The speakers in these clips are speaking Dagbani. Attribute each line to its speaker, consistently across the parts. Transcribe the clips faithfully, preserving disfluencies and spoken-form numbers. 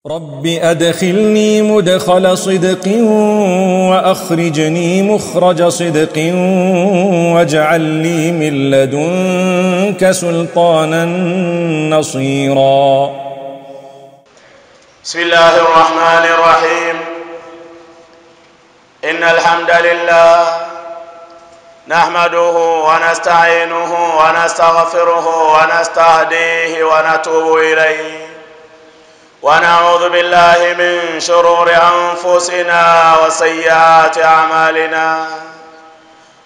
Speaker 1: رب أدخلني مدخل صدق وأخرجني مخرج صدق واجعل لي من لدنك سلطانا نصيرا.
Speaker 2: بسم الله الرحمن الرحيم. إن الحمد لله نحمده ونستعينه ونستغفره ونستهديه ونتوب إليه، ونعوذ بالله من شرور أنفسنا وسيئات أعمالنا.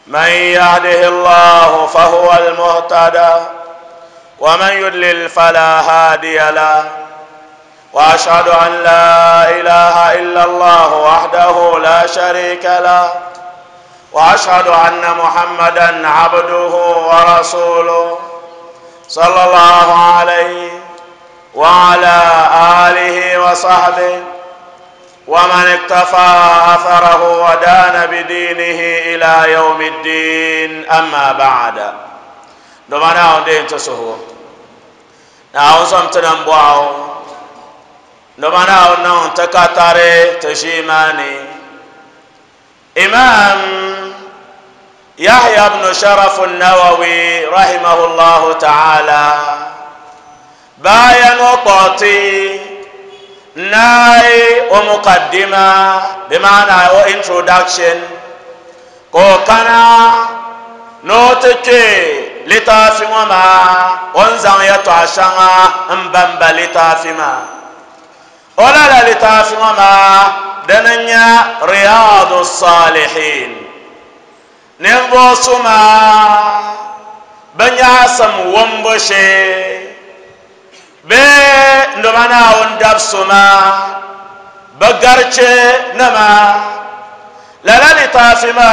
Speaker 2: من يهده الله فهو المهتدى، ومن يضلل فلا هادي له، وأشهد أن لا إله إلا الله وحده لا شريك له، وأشهد أن محمدا عبده ورسوله صلى الله عليه وعلى آله وصحبه ومن اكتفى أثره ودان بدينه إلى يوم الدين. أما بعد، دمنا ودين تسهو نعوزم تنبعو دمنا ونون تكاتري تشيماني. إمام يحيى بن شرف النووي رحمه الله تعالى باين وقتي ناي ومقدمة بمعنى introduction كوكنا نوتكي لتافي وما وانزان يتعشنا مبمب لتافي ما ولا لا لتافي وما دنيا رياض الصالحين نبوسما بنياسم ومبشي be ndomana on dabsuma bagarche nama la la litafima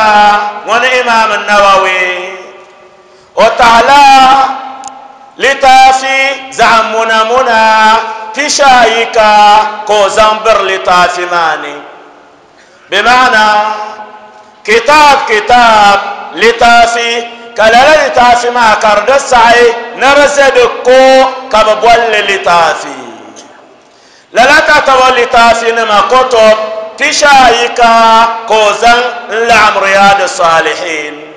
Speaker 2: wan imam an-nawawi wa ta'ala litafi zamuna muna tishayika ko zambar litafimani بمعنى كتاب كتاب لتافي كلا لتافي ما كرد سعي نرزد كو كبول لتافي لا لا تتولي لتافي نما كتب تشايكا كوزن لعم رياض الصالحين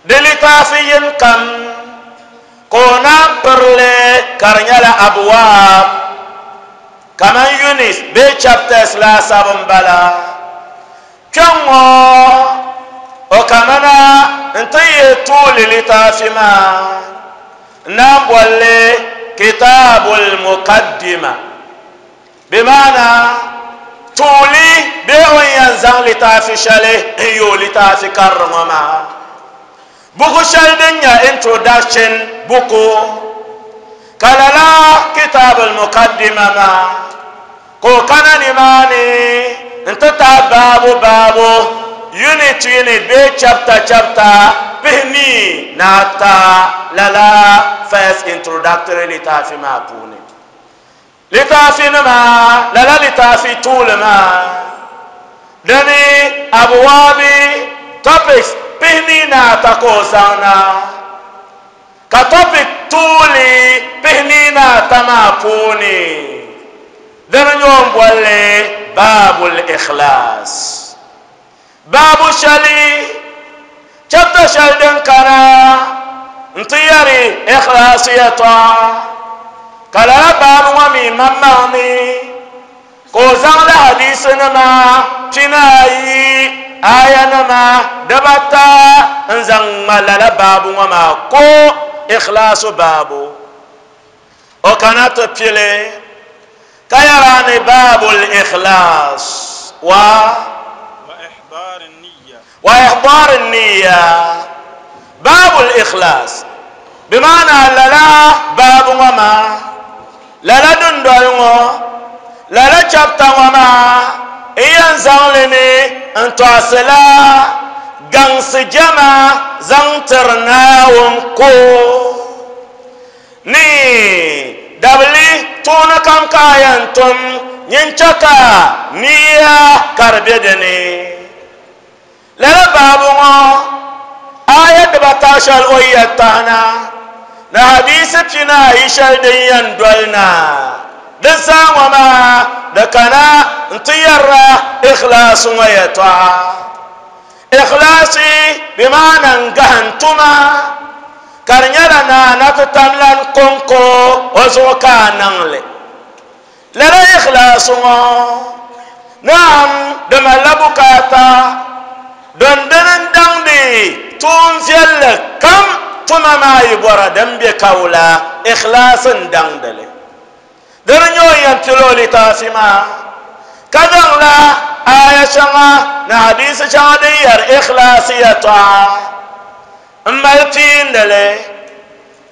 Speaker 2: دلتافي كم كونا برلي كرنيالا أبواب كمان يونس بي chapters لا سابن بلا كم وكمانا انتي طول لتافما نبولي كتاب المقدمة بمعنى طولي بيوين ينزان لتافي شالي يو لتافي كرمما بوكو شال دنيا introduction بوكو كلالا كتاب المقدمة ما كو كان نماني انت بابو بابو unit unit be chapter chapter pihni nata lala first introductory litafi ma puni litafi nama lala litafi tulma dani abwabi topics pihni nata ko sana ka topic tuli pihni nata ma puni dani nyom bolle babul ikhlas babu shali chapter shali din kana ntiyari ikhlasiyata kala babu wa mi mamani ko zang la hadisi nama tinayi aya nama dabata nzang malala babu wa ma ko ikhlasu babu o kana to pile kayarani babul ikhlas wa وإحضار النية باب الإخلاص بمعنى لا لا باب وما لا لا دندوينو لا لا chapter وما إيان زانلمي انتواسلا غانس جما زانترنا ونكو ني دبلي تونا كم كاينتم ينشكا نية كربيدني لا بابو آية دبتاشل ويتانا na hadisi pina ishal din yan dolna Din zaa ŋɔ maa di kana n-ti yɛrila ikhlaasi ŋɔ yɛltɔɣa. Ikhlaasi bi maana n gahim tuma ka di nyɛla naana ti tamlan kɔŋko o zuɣu ka a niŋli. Lala ikhlaasi ŋɔ naam di malila bukaata din dini n daŋdi tuun viɛlli kam tuma maa yi bɔra din be kawula ikhlaasi n daŋdili. Dini nyɛ o yɛn pili o litaafi maa ka zaŋla aya shɛŋa ni hadisi shɛŋa din yɛri ikhlaasi yɛltɔɣa n mali piindili.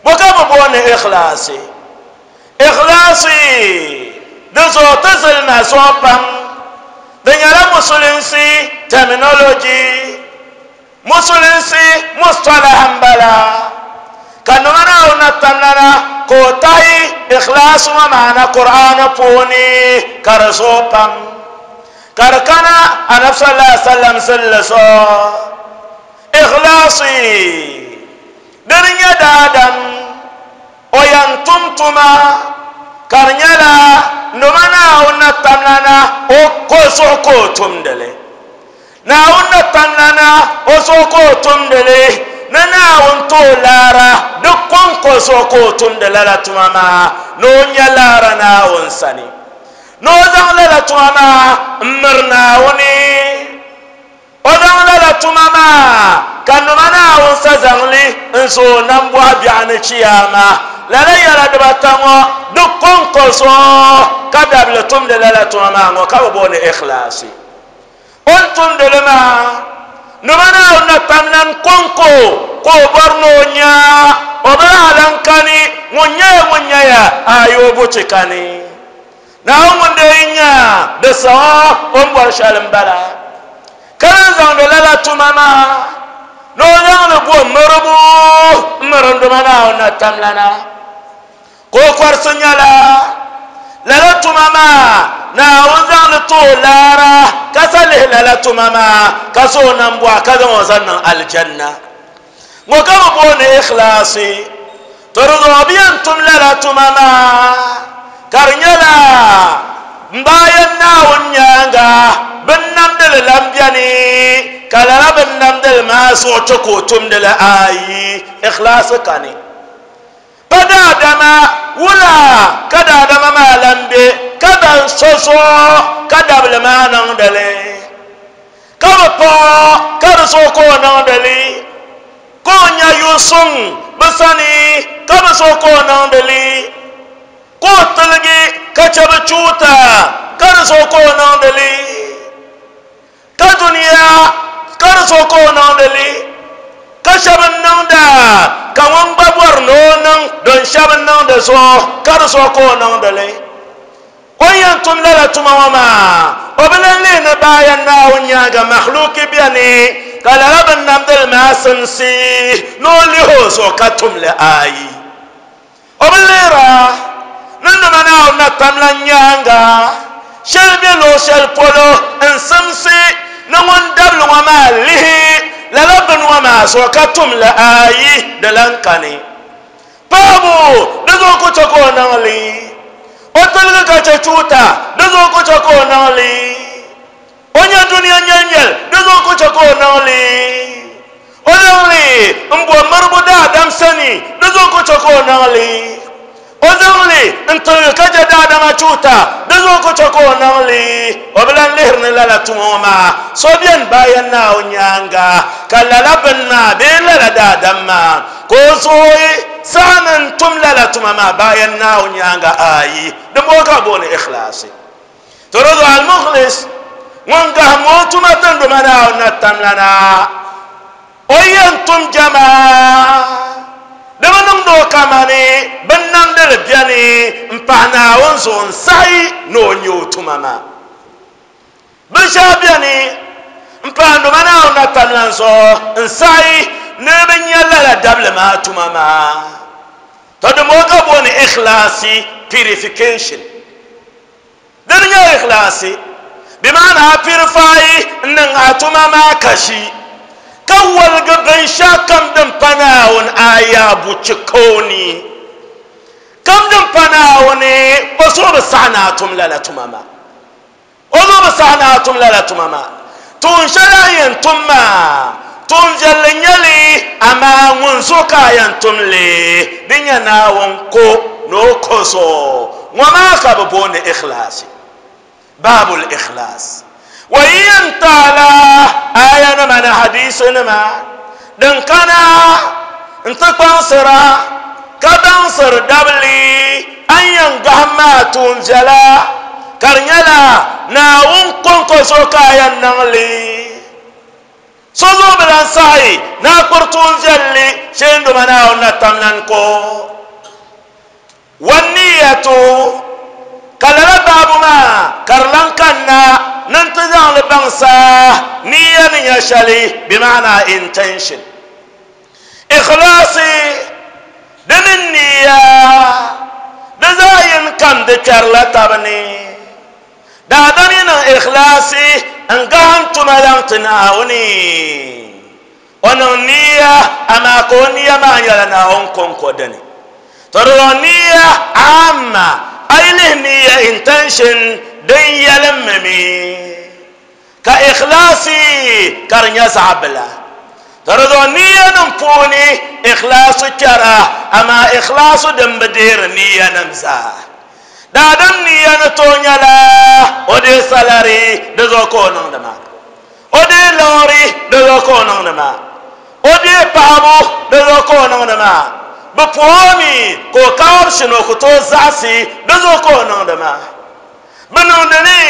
Speaker 2: Bo ka bi booni ikhlaasi? Ikhlaasi di zuɣu ti zilima zuɣu pam. Di nyɛla musulinsi terminology, musulinsi mustalah n bala ka nima Naawuni na tamlana ka o tahi ikhlaasi ŋɔ maana Qur'aani puuni ka di zooi pam ka di kana Anabi sallallahu alaihi wasallam zilli zuɣu. Ikhlaasi dini nyɛ daadam o yɛn tum tuma ka di nyɛla nima Naawuni na tamlana o ko zuɣu ka o tumdili. Naawuni na tamlana o zuɣu ka o tumdili ni Naawuni ti o laara di kɔŋko zuɣu ka o tumdi lala tuma maa ni o nya laara Naawuni sani ni o zaŋ lala tuma maa n miri Naawuni. O zaŋ lala tuma maa ka nima Naawuni sa zaŋli n zooi nambɔɣu biɛɣu ni chiyaama. Lala yɛla dibata ŋɔ di kɔŋko zuɣu ka dabili tumdi lala tuma maa ŋɔ ka bi booni ikhlaasi. O ni tumdili maa nima Naawuni na tamlan kɔŋko ka o bɔri ni o nya o bi lahi lan kani ŋun nyɛya ŋun nyɛya ayi o buchi kani. Naawuni ŋun dee nya di saɣa o ni bɔri shɛli n bala ka lan zaŋdi lala tuma maa ni o zaŋli bo miribu n miri nduma Naawuni na tamlana ka o kɔrisi nyɛla lala tuma maa Naawuni zaŋli ti o laara ka sa lihi lala tuma maa ka so o nambɔɣu ka zaŋ o zaŋ niŋ alijanna. Ŋɔ ka bi booni ikhlaasi. To di zuɣu bi yɛn tum lala tuma maa ka di nyɛla n bayan Naawuni nyaaŋa bin namdili lan bɛni ka lala bin namdili maa zuɣu chɛ ka o tumdili ayi ikhlaasi kani. Pa daadama wula ka daadama maa lan be ka ban so zuɣu ka dabili maa niŋdili ka bi paɣa ka di zuɣu ka o niŋdili ka o nya yusuŋ bi sani ka bi zuɣu ka o niŋdili ka o tiligi ka chɛ bi chuuta ka di zuɣu ka o niŋdili ka duniya ka di zuɣu ka o niŋdili ka shɛba niŋda ka ŋun gba bɔri ni o niŋ don shɛba niŋdi zuɣu ka di zuɣu ka o niŋdili. O yɛn tum lala tuma ŋɔ maa o bi lan lihi ni bayan Naawuni nyaaŋa makhluki bɛni ka lala bin namdili maa simsi ni o lihi o zuɣu ka tumli ayi. O bi lihira ni nima Naawuni na tamla nyaaŋa shɛli be luɣu shɛli polo n simsi ni ŋun dabili ŋɔ maa lihi lala bini ŋɔ maa zuɣu ka tumli ayi di lan kani. Paɣabu di zuɣu ku chɛ ka o niŋli o tiligi ka chɛ chuuta di zuɣu ku chɛ ka o niŋli o nya duniya nyɛlnyɛl di zuɣu ku chɛ ka o niŋli o niŋli n bo miribu daadam sani di zuɣu ku chɛ ka o niŋli o zaŋli n tiligi ka chɛ daadama chuuta di zuɣu ku chɛ ka o niŋli o bi lan lihiri ni lala tuma ŋɔ maa so bɛni bayan Naawuni nyaaŋa ka lala bini maa bee lala daadam maa ka o zooi saɣa ni n tum lala tuma maa bayan Naawuni nyaaŋa ayi di boo ka booni ikhlaasi. To di zuɣu al-mukhlis ŋun gahim o tuma tinduma Naawuni na tamlana o yɛn tum jamaa di bi niŋdi o kamani bin namdili bɛni n pahi Naawuni zuɣu n saɣi ni o nyɛ o tuma maa. Binshɛɣu bɛni n pahi nduma Naawuni na tamlan zuɣu n saɣi ni bi nyɛ lala dabili maa tuma maa. To di moo ka booni ikhlaasi purification. Dini nyɛ ikhlaasi bi maana a purify n niŋ a tuma maa kashi ka waligi binshɛɣu kam din pa Naawuni aya buchi kooni Kam din pa Naawuni o zuɣu bi saɣi ni a tum lala tuma maa o zuɣu bi saɣi ni a tum lala tuma maa tuun shɛli a yɛn tum maa tuun viɛlli n nyɛli amaa ŋun zuɣu ka a yɛn tum li di nyɛ Naawuni ko ni o ko zuɣu ŋɔ maa ka bi booni ikhlaasi baabul ikhlaas wa yɛn taala aya nima ni hadisi nima din kana n ti kpaŋsira ka baŋsir dabli an yɛn gaham maa tuun viɛla ka di nyɛla Naawuni konko zuɣu ka a yɛn niŋ li so zuɣu bi lan saɣi ni a kpiri tuun viɛlli shee n doma Naawuni na tamlan ko wanniyatu ka lala baabu maa ka di lan kanna ni n ti zaŋli baŋsa niya ni nyɛ shɛli bimaana intention ikhlaasi di mini niya di zaa yin kam di kpɛrila tabi ni daadam yi niŋ ikhlaasi n gaham tuma laŋ ti Naawuni o niŋ niya amaa ka o niya maa nyɛla Naawuni konko dini to di zaŋ niya amma a yi lihi niya intention din yɛlimmi mi ka ikhlaasi ka di nyɛ zaɣ bila to di zaŋ niya nim puuni ikhlaasu kpɛra amaa ikhlaasu din bi deeri niya nim zaa daadam niya ni tooi nyɛla o dee salari di zuɣu ka o niŋdi maa o dee liɣiri di zuɣu ka o niŋdi maa o dee paɣabu di zuɣu ka o niŋdi maa bi puhimi ka o kaabisi ni o ku tooi zaɣasi di zuɣu ka o niŋdi maa bi niŋdi li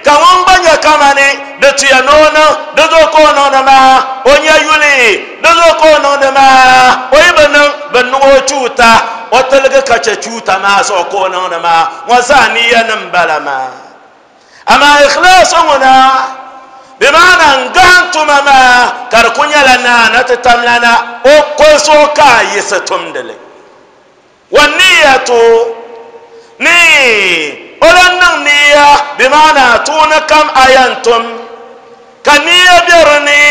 Speaker 2: ka ŋun gba nyɛ kamani di tuya ni o niŋ di zuɣu ka o niŋdi maa o nyɛ yuli di zuɣu ka o niŋdi maa o yi bi niŋ bi niŋ o chuuta o tiligi ka chɛ chuuta maa zuɣu ka o niŋdi maa ŋɔ zaa niya nim bala maa amaa ikhlaasi ŋuna bimaana n gaham tuma maa ka di ku nyɛla naana ti tamlana o ko zuɣu ka a yiɣisi tumdili wa niyatu ni o lan niŋ niya bimaana tuuni kam a yɛn tum ka niya bɛ di ni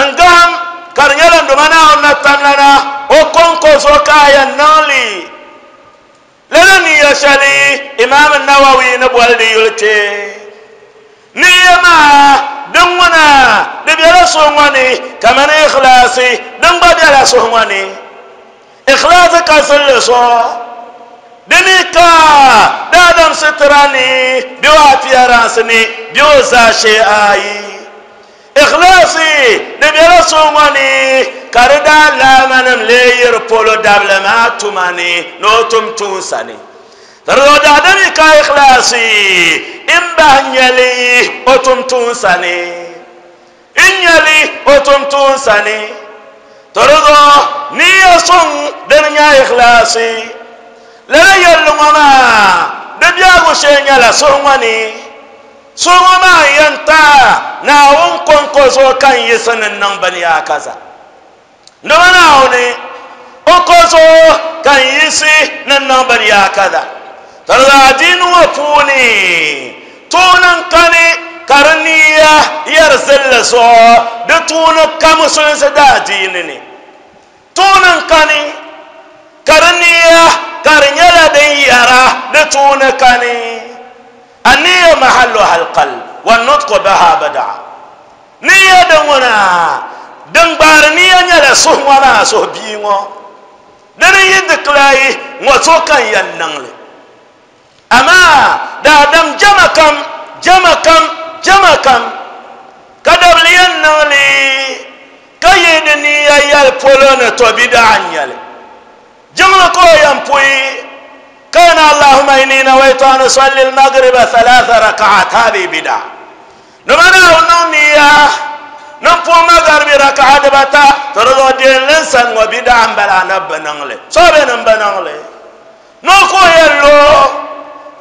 Speaker 2: n gaham ka di nyɛla n doma Naawuni na tamlana o konko zuɣu ka a yɛn niŋ li lala niya shɛli Imaam Nawawi ni boli di yuli kpee niya maa din ŋuna di bɛla suhu ŋɔ ni kamani ikhlaasi din gba bɛla suhu ŋɔ ni ikhlaasi ka zilli zuɣu di mi ka daadam sitira ni bɛ o appearance ni bɛ o zaashee ayi ikhlaasi di bɛla suhu ŋɔ ni ka di daa laamanim lee yiri polo dabili maa tuma ni ni o tum tuunsa ni tari daadam yi ka ikhlaasi n bahi nyɛli o tum tuunsa ni n nyɛli o tum tuunsa ni tari zuɣu niya suŋ din nyɛ ikhlaasi lala yɛlli ŋɔ maa di biɛhigu shee nyɛla suhu ŋɔ ni suhu ŋɔ maa n yɛn ta Naawuni konko zuɣu ka n yiɣisi ni n niŋ bini kaza ndoma Naawuni o ko zuɣu ka n yiɣisi ni n niŋ bini kaza tari adiini ŋɔ puuni tuuni n kani ka di niya yɛri zilli zuɣu di tuuni ka musulinsi daa adiini ni tuuni n kani ka di niya ka di nyɛla din yɛra di tuuni kani النية محلها القلب والنطق بها بدعة نية دمنا دنبار نية nyɛla suhu ŋɔ maa suhu bia ŋɔ dini yi dikilayi ŋɔ so kan yɛn niŋli amaa daadam jama kam jama kam jama kam ka dabli yɛn niŋli ka yi di niya yɛli polo ni to bidaa n nyɛli jiŋli ka o yɛn puyi كان اللهم إني نويت أن أصلي المغرب ثلاث ركعات هذه بدعة نمنا ونمنيا نمفو مغرب ركعة بتا ترضو دين لنسان وبدعة بلا نب نغلي صوبي نب نغلي نوكو يلو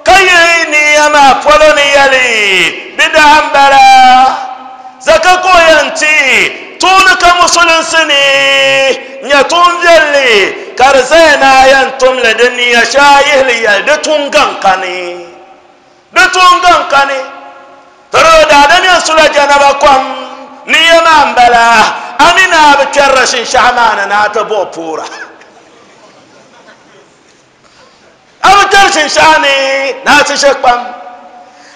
Speaker 2: كي نيما فلوني يلي بدعة بلا زكاكو ينتي تونك مسلسني نيتون يلي ka di zaya na yɛn tumli di niya shɛhi yihili yɛli di tun gaŋ kani di tun gaŋ kani tiri daadam yɛn sula janaba kom niya maa n bala a mi naa bi kpɛrila shinshaɣu maa ni naa ti buɣi puura A kpɛri shinshaɣu ni na a ti shɛ kpam.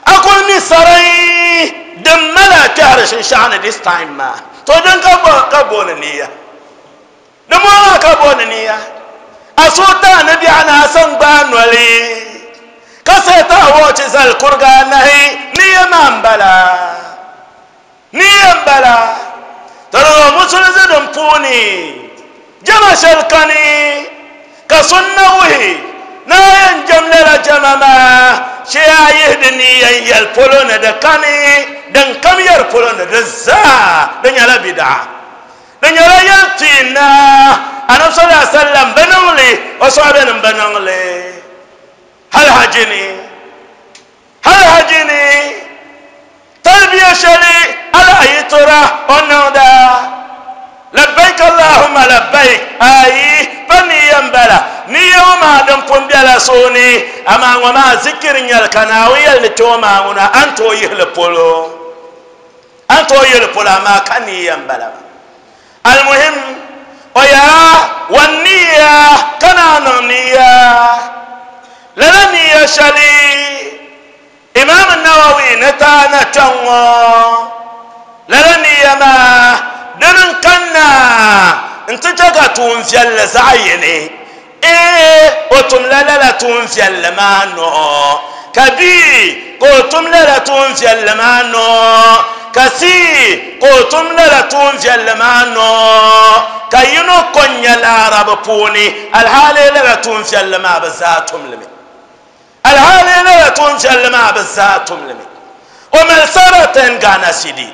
Speaker 2: A kuli mi sarai din mali a kpɛhiri shinshaɣu ni this time maa. To din ka ka booni niya. Din maa ka booni niya. A so ta ni biɛɣu na a san gbaai noli. Ka sai ta wɔchi zali kuriga anahi niya maa n bala. Niya n bala. Tɔrɔ musulunsi din puuni jama shɛli kani ka sunna wuhi na yɛn jam lala jama maa shee a yihi di niya n yɛli polo ni di kani din kam yɛri polo ni di zaa di nyɛla bidaa di nyɛla yɛli tiina anabi sallallahu alaihi wasallam bi niŋli o sɔhabinim bi niŋli hali haji ni hali haji ni talbiya shɛli ala a yi tora o niŋda labbaik allahumma labbaik ayi pa niya n bala niya ŋɔ maa din pun bɛla sooni amaa ŋɔ maa zikiri nyɛli ka Naawuni yɛli ni kpɛ ŋɔ maa ŋuna a ni tooi yihili polo a ni tooi yihili polo amaa ka niya n bala almuhim o yaa wa niya ka naa niŋ niya lala niya shɛli Imam Nawawi ni taana kpɛŋ ŋɔ lala niya maa dini n kanna n ti chɛ ka tuun viɛlli zaɣ yini ee o tumla lala tuun viɛlli maa noo ka b ka o tum lala tuun viɛlli maa noo ka c ka o tum lala tuun viɛlli maa noo ka yino ko n nyɛ laarabi puuni alhaali lala tuun viɛlli maa bi zaa tumlimi alhaali lala tuun viɛlli maa bi zaa tumlimi o mali saratan Ghana cedi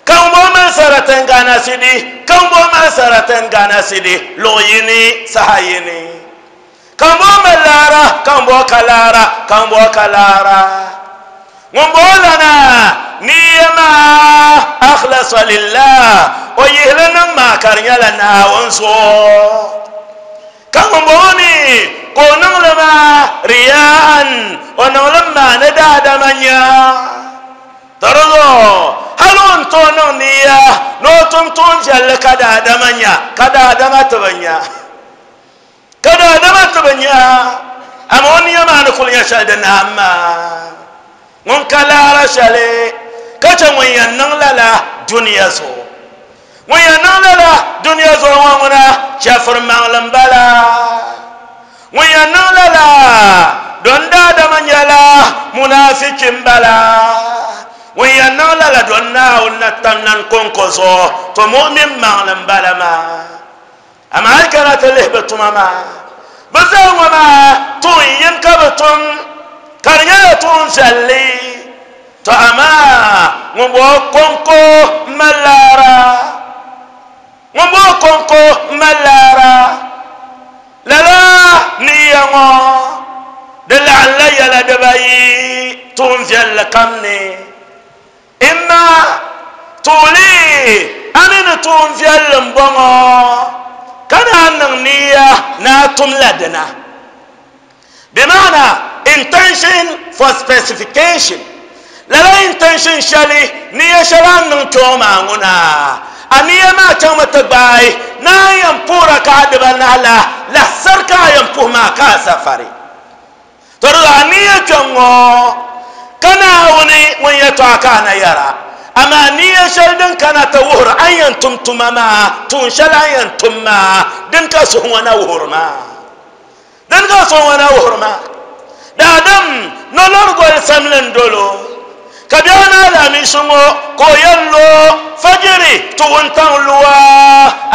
Speaker 2: kan bo mali saratan Ghana cedi kan bo mali saratan Ghana cedi luɣ yini saha yini kan bo mali laara kan bo ka laara kan bo ka laara ŋun bo lana niya maa akhlasa lillah o yihili niŋ maa ka di nyɛla Naawuni zuɣu ka ŋun bo mi ka o niŋli maa riyaan o niŋli maa ni daadama nya tɔrɔ hali o ni tooi niŋ niya ni o tum tuun viɛlli ka daadama nya ka daadama ti bi nya ka daadama ti bi nya amaa o niya maa ni kuli nyɛ shɛli di naam maa ŋun ka laara shɛli ka chɛ ŋun yɛn niŋ lala duniya zuɣu ŋun yɛn niŋ lala duniya zuɣu ŋɔ ŋuna chɛfuri maŋli n bala ŋun yɛn niŋ lala don daadama nyɛla munafiki n bala ŋun yɛn niŋ lala don Naawuni na tam nan konko zuɣu to mu'min maŋli n bala maa amaa hali kana ti lihi bi tuma maa bi zaa ŋɔ maa tuun yini ka bi tum ka di nyɛla tuun viɛlli to amaa ŋun bo konko n mali laara ŋun bo konko n mali laara lala niya ŋɔ di laɣimla yɛla dibayi tuun viɛlli kam ni imma tuuli a mi ni tuun viɛlli n bɔŋɔ ka naa niŋ niya ni a tumla dina bimaana intention for specification lala intention shɛli niya shɛli a ni niŋ kpɛŋɔ maa ŋuna a niya maa chaŋmi ti gbaai ni a yɛn puhi raka'a dibanahi la lahisari ka a yɛn puhi maa ka a safari to di zuɣu a niya kpɛŋ ŋɔ ka Naawuni ŋun yɛtɔɣa ka a na yɛra amaa niya shɛli din kana ti wuhiri a ni yɛn tum tuma maa tuun shɛli a ni yɛn tum maa din ka suhu ŋɔ na wuhiri maa din ka suhu ŋɔ na wuhiri maa daadam nolori goli samli n dolo ka biɛɣu ni alaamisi ŋɔ ka o yɛn lo fajiri ti wuntaŋ luwa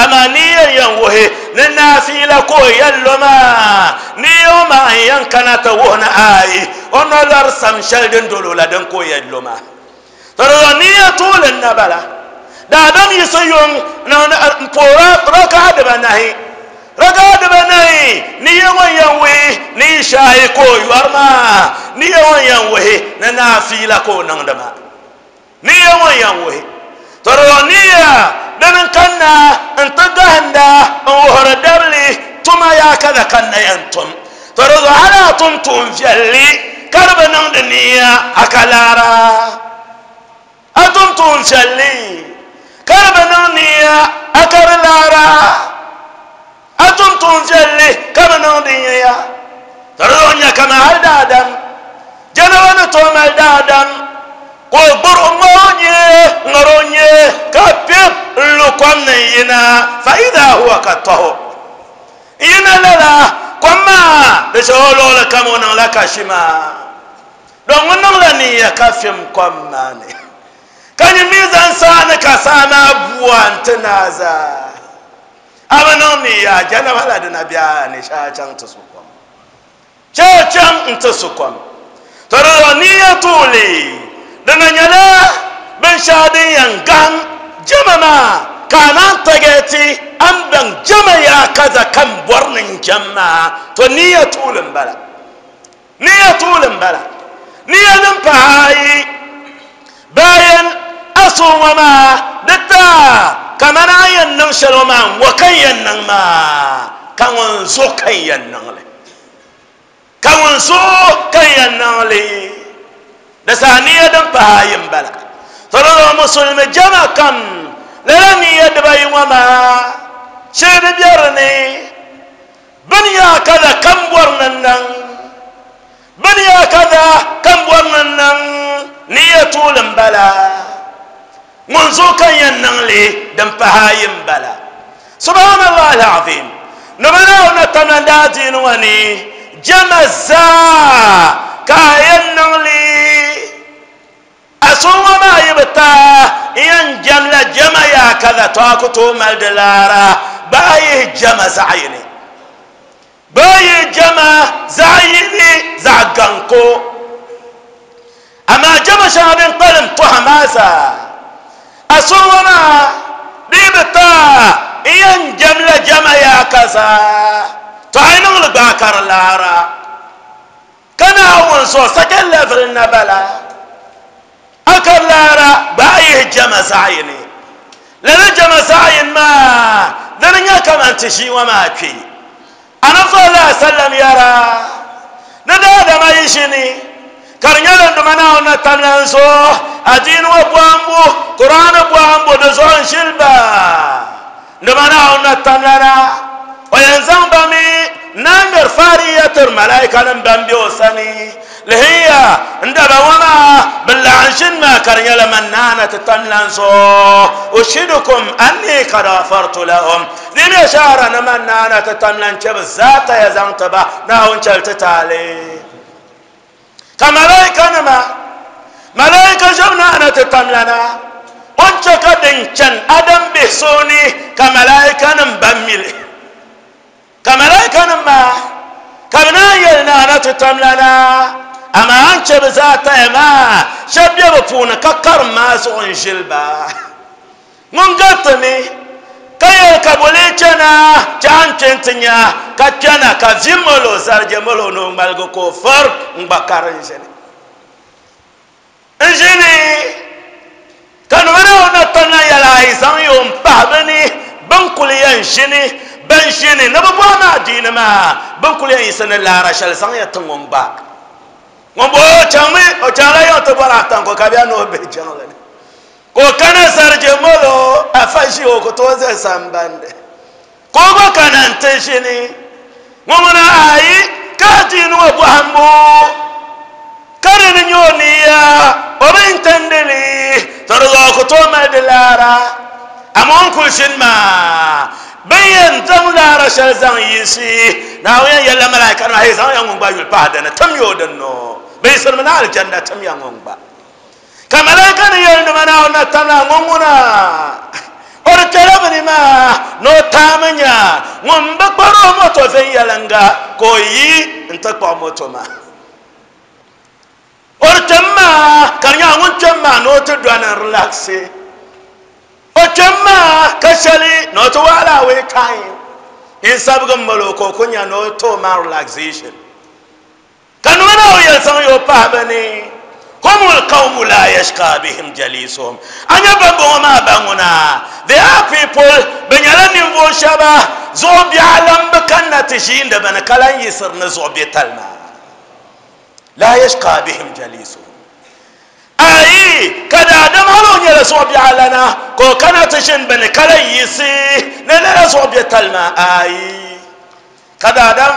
Speaker 2: amaa niya yɛn wuhi ni naafiila ka o yɛn lo maa niya ŋɔ maa n yɛn kana ti wuhi ni ayi o nolori sam shɛli din dolo la din ka o yɛn lo maa to di zuɣu niya tuuli n na bala daadam yiɣisi yuŋ n puhi raka'a dibanahi raka'a dibanahi niya ŋɔ yɛn wuhi ni ishaayi ka o yɔri maa niya ŋɔ yɛn wuhi ni naafiila ka o niŋdi maa niya ŋɔ yɛn wuhi to di zuɣu niya dini n kanna n ti gahinda n wuhiri dabili tuma yaa kada ka na yɛn tum to di zuɣu hali a tum tuun viɛlli ka di bi niŋdi niya a ka laara a tum tuun viɛlli ka di bi niŋ niya a ka di laara a tum tuun viɛlli ka bi niŋdi niya to Tɔrɔ kama hal daadam jɛnaba ni tooi mali daadam ka o gburi ŋɔ nyɛ ŋari o nyɛ ka pep n lu kom ni yina fa ida huwa ka tɔho yina lala kom maa di shɛ o luɣuli kam o niŋla kashi maa don ŋun niŋla niya ka fim kom maa ni ka nyɛ mi zaŋ saani ka saa maa bua n ti naa zaa a bi niŋ niya jɛnaba la dina bɛ ni shɛ a chaŋ ti su kom shɛ a chaŋ n ti su kom to di zuɣu niya tuuli dina nyɛla binshaɣu din yɛn gaham jama maa ka a naan tagɛti an baŋ jama yaa kaza kan bɔri ni n jam maa to niya tuuli n bala niya tuuli n bala niya din pahi ayi bayan a suŋɔ maa di taa kamani a yɛn niŋ shɛli ŋɔ maa ŋɔ ka n yɛn niŋ maa ka ŋun zo ka n yɛn niŋli ka ŋun zo ka n yɛn niŋli di saa niya din pahi ayi n bala to di zuɣu musulimi jama kam lala niya dibayi ŋɔ maa shee di bɛ di ni bini yaa kaza kam bɔri ni niŋ bini yaa kaza kam bɔri ni niŋ niya tuuli n bala ŋun zo ka n yɛn niŋli din pahi ayi n bala subhanallah alazim ni bi naawuni tamla daa diini ŋɔ ni jama zaa ka a yɛn niŋli a suŋɔ maa yi bi taa n yɛn jɛmla jama yaa kaza to a ku tooi mali di laara gba yihi jama zaɣ yini gba yihi jama zaɣ yini zaɣ gaŋ ko amaa jama shɛŋa din kpalim tɔha maa zaa a suŋɔ maa di bi taa n yɛn jɛmla jama yaa kaza to a yi niŋli gbaai ka di laara ka naawuni zuɣu second level na bala a ka laara gbaai yihi jama zaɣ yini lala jama zaɣ yini maa dini nyɛ kaman ti ʒii ŋɔ maa kpe anabi sallallahu alaihi wasallam yɛra ni daadama yi ʒini ka di nyɛla nduma naawuni na tamla n zuɣu adiini ŋɔ bɔhimbu kuraani bɔhimbu di zuɣu n ʒili ba nduma naawuni na tamla na o yɛn zaŋ ba mi na ŋmɛri faariya tiri malaika nim ban bɛ o sani lihiya n daba ŋɔ maa bi laɣim ʒini maa ka di nyɛla man naana ti tamla n zuɣu ushidukum anni kad ghafartu lahum di mi shahara ni man naana ti tamla n chɛ bi zaa taya zaŋ ti ba naawuni chɛli ti taali ka malaika nima malaika ʒɛbu naana ti tamla na o ni chɛ ka din chani adam bihi sooni ka malaika nim ban mili ka malaika nim maa ka bi naan yɛli naana ti tamla na amaa an chɛ bi zaa taya maa shɛba bɛ bi puuni ka karim maa zuɣu n ʒili ba ŋun gariti mi ka yɛli ka bo lee chɛna chɛ an kpɛ n ti nya ka kpɛna ka vi molo zarije molo ni o ŋmaligi ka o fari n gba kari n ʒini n ʒini ka nima naawuni na tamla yɛli a yi zaŋ yo n pahi bi ni bin kuli yɛn ʒini ban ʒini ni bi bɔhi maa diini maa bin kuli yɛn yiɣisi ni laara shɛli zaŋ ya ti ŋun gba ŋun bo o chaŋmi o chaŋla yiŋ ti bɔri atanko ka bɛ ni o bihi jiŋli ni ka o kana zarije molo afa ʒi o ku tooi zali sambandi ka o gba kana n ti ʒini ŋun ŋuna ayi ka adiini ŋɔ bɔhimbu ka di ni nyɛ o niya o bi intendili to di zuɣu ku tooi mali di laara amaa o ni kuli ʒini maa bin yɛn zaŋ laara shɛli zaŋ yiɣisi naawuni yɛn yɛlila malaika nima hey zaŋ ya ŋun gba yuli pahi dini tim ya o din no bi yiɣisirimi ni alijanna tim ya ŋun gba ka malaika ni yɛli nima naawuni na tamla ŋun ŋuna o di kpɛla bini maa ni o taami nya ŋun bi kpari o moto viɛnyɛlinga ka o yi n ti kpuɣi moto maa o di kpɛm maa ka di nyɛla ŋun kpɛm maa ni o ti dɔni n relaxi o kpɛm maa ka shɛli ni o ti waɣala away time n sabigi malo ka o ku nya ni o ti o maa relaxation ka nima na o yɛli zaŋ ya o pahi bi ni هم القوم لا يشقى بهم جليسهم أنا بابو ما بانونا they are people بنيالا نينفو شبا زوبي عالم بكنا تشين دبنا كلان يسر نزوبي تلما لا يشقى بهم جليسهم أي كذا آدم هلو نيلا زوبي علنا كو كنا تشين بنا كلان يسي نلا زوبي تلما أي كذا آدم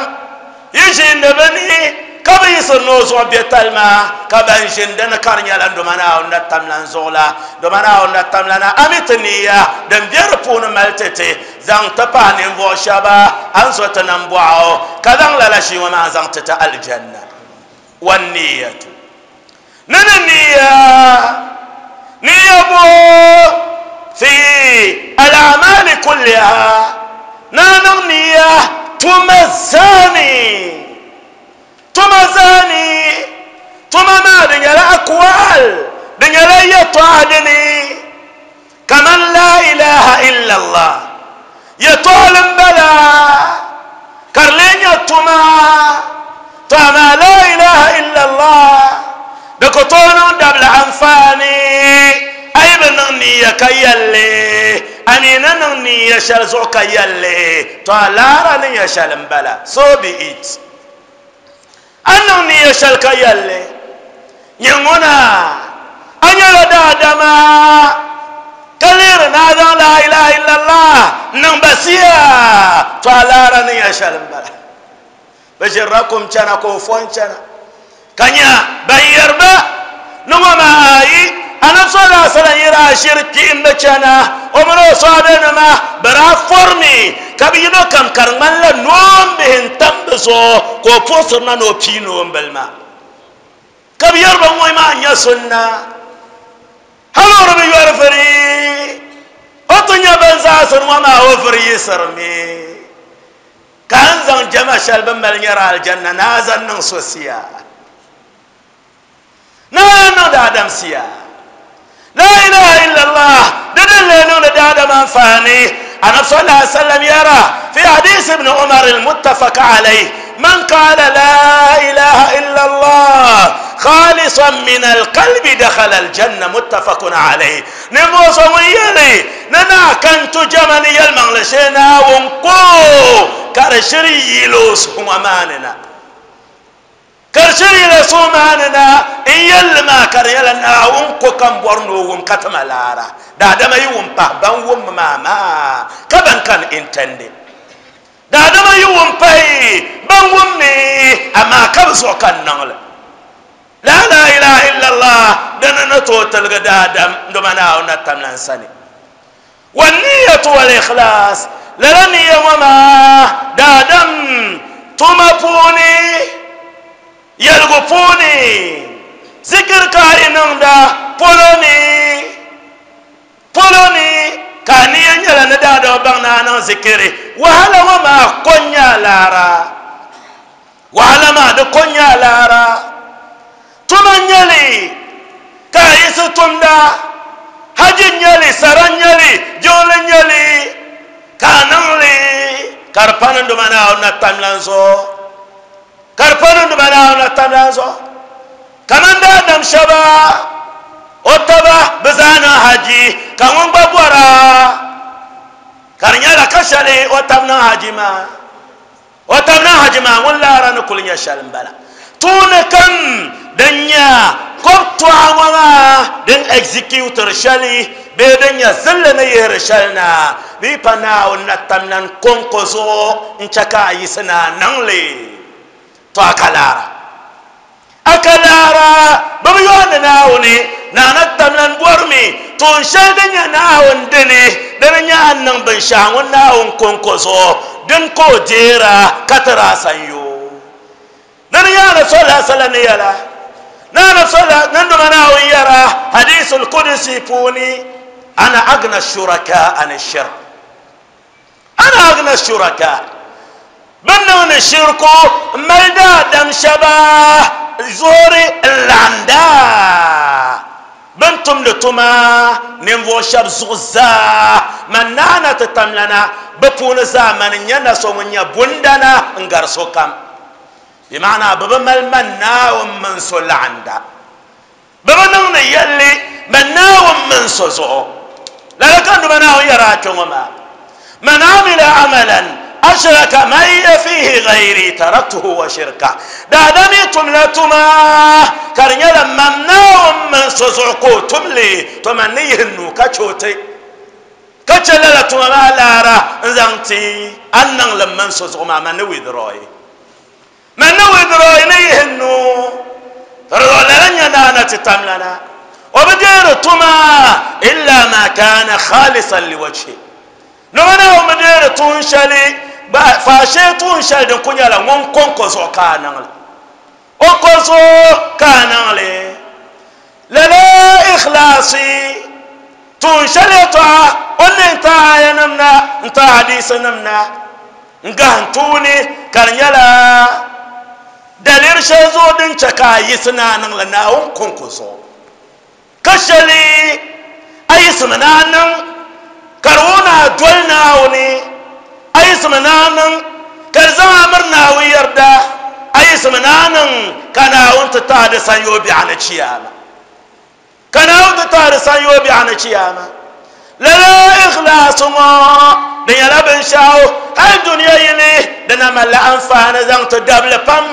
Speaker 2: Yi ʒiindi bɛ ni ka bi yiɣisiri ni o zuɣu bɛ tali maa ka ban ʒini dini ka di nyɛla doma Naawuni na tamlan zuɣu la doma Naawuni na tamlana a mi ti niya din bɛ di puuni mali ti ti zaŋ ti pahi ninvuɣu shɛba a ni zo ti nam bɔɣu ka zaŋ lala shii ŋɔ maa zaŋ ti ti alijanna wan niyatu ni ni niya niya bo fi al-a'mali kulliha na niŋ niya tuma zani tuma zani tuma maa di nyɛla akwal di nyɛla yɛltɔɣa dini kaman la ilaha illa allah yɛltɔɣali n bala ka di lee nyɛ tuma to amaa la ilaha illa allah di ku tooi niŋ dabila anfaani a yi bi niŋ niya ka yɛlli a mi na niŋ niya shɛli zuɣu ka yɛlli to a laara ni nyɛ shɛli n bala so be it a niŋ niya shɛli ka yɛlli nyɛ ŋuna a nyɛla daadama ka lihiri ni a zaŋ la ilaha illallah niŋ basiya to a laara ni nyɛ shɛli n bala bi ʒirila kum chana ka o fo n chana ka nya ban yɛriba ni ŋɔ maa ayi anabi sallallahu alaihi wasallam yɛra a ʒiri kpihimbi chana o mini o sɔhabanima bi daa forimi ka bi yino kam ka di ŋmanila noombihi n tam bi zuɣu ka o puɣusiri na ni o pii noombili maa ka bi yɛri ba ŋɔ maa n nyɛ sunna hali o di bi yɔri vuri o ti nyɛ bin zaɣasiri ŋɔ maa o vuri yiɣisirimi ka n zaŋ jama shɛli bin mali nyɛri alijanna ni a zaŋ niŋ so siya na niŋ daadam siya la ilaha illallah didin le niŋdi daadam anfaani anabi sallallahu alaihi wasallam yara fi hadith ibn umar almuttafaq alayh man qala la ilaha illallah khalisan min alqalbi dakhala aljanna muttafaqun alayh ninvuɣu so ŋun yɛli ni naa kan tu jama ni yɛlimaŋli shee Naawuni ko ka di shiri yiili o suhu ŋɔ maa ni na ka di shiri yiili suhu maa ni na n yɛlli maa ka di nyɛla Naawuni ko ka n bɔri ni o wum ka ti ma laara daadama yi wum pahi ban wummi maa maa ka ban kan intɛndi daadama yi wum pahi ban wummi amaa ka bi zuɣu ka n niŋli la la ilaha illallah dini ni tooi tiligi daadam doma Naawuni na tamla n sani wanniyatu wal ikhlas lala niya ŋɔ maa daadam tuma puuni yɛligu puuni zikir ka a yi niŋda polo ni polo ni ka a niya nyɛla ni daadama baŋ ni a niŋ zikiri wahala ŋɔ maa ko n nyɛ a laara wahala maa di ko n nyɛ a laara tuma n nyɛli ka a yiɣisi tumda haji n nyɛli sara n nyɛli jiŋli n nyɛli ka a niŋli ka di pa ni doma Naawuni na tamlan zuɣu ka di pa ni doma Naawuni na tamlan zuɣu kaman daadam shɛba o taba bi zaa niŋ haji ka ŋun gba bɔra ka di nyɛla ka shɛli o tab niŋ haji maa o tab niŋ haji maa ŋun laara ni kuli nyɛ shɛli n bala tuuni kam din nyɛ kob tɔɣa ŋɔ maa din executiri shɛli bee din nyɛ zilli ni yihiri shɛli na bee pa Naawuni na tamlan konko zuɣu n chɛ ka a yiɣisi na a niŋli to a ka laara a ka laara bi bi yooni Naawuni naa na tamlan bɔrimi tuun shɛli din nyɛ Naawuni dini dini nyɛ a niŋ binshaɣu ŋun Naawuni konko zuɣu din ka o deera ka tiri a sanyo dini nyɛ anabi sallallahu alaihi wasallam ni yɛla na sallallahu nan duma Naawuni yɛra hadisul qudsi puuni ana agna shuraka an shirk ana agna shuraka bin niŋdi shirku n mali daadam shɛba zuɣuri n laɣinda bin tumdi tuma ninvuɣu shɛba zuɣu zaa man naana ti tamlana bi puuni zaa mani n nyɛ na so ŋun nyɛ bundana n gari sokam bi maana bi bi mali man Naawuni mini so laɣinda bi bi niŋdi yɛlli man Naawuni mini so zuɣu lala ka duma Naawuni yɛra a kpɛ ŋɔ maa man amila amalan ashraka ma'iya fihi ghayri taraktuhu wa shirka daadami tumla tuma ka di nyɛla man Naawuni mini so zuɣu ka o tumli to man ni yihi nuu ka chɛ o ti ka chɛ lala tuma maa laara n zaŋ ti a ni niŋli mini so zuɣu maa man ni withdraw. Man na withdraw ni yihi nuu lala nya naana ti tamlana o bi deeri tuma illa ma kana khalisan liwajhi noma na o bi deeri tuun shɛli faashee tuun shɛli din ku nyɛla ŋun konko zuɣu ka a niŋli o ko zuɣu ka a niŋli lala ikhlaasi tuun shɛli yɛltɔɣa o ni n ta aya nim na n ta hadisi nim na n gahim tuuni ka di nyɛla daliri shɛli zuɣu din chɛ ka a yiɣisi ni a niŋli Naawuni konko zuɣu ka shɛli a yiɣisimi ni a niŋ ka di wuhi ni a doli Naawuni a yiɣisimi ni a niŋ ka di zaŋ a miri Naawuni yarda a yiɣisimi ni a niŋ ka Naawuni ti tahi di sanyoo biɛɣu ni chiyaama ka Naawuni ti tahi di sanyoo biɛɣu ni chiyaama lala ikhlaasi ŋɔ di nyɛla binshaɣu hali duniya yili di na malila anfaani zaŋ ti dabili pam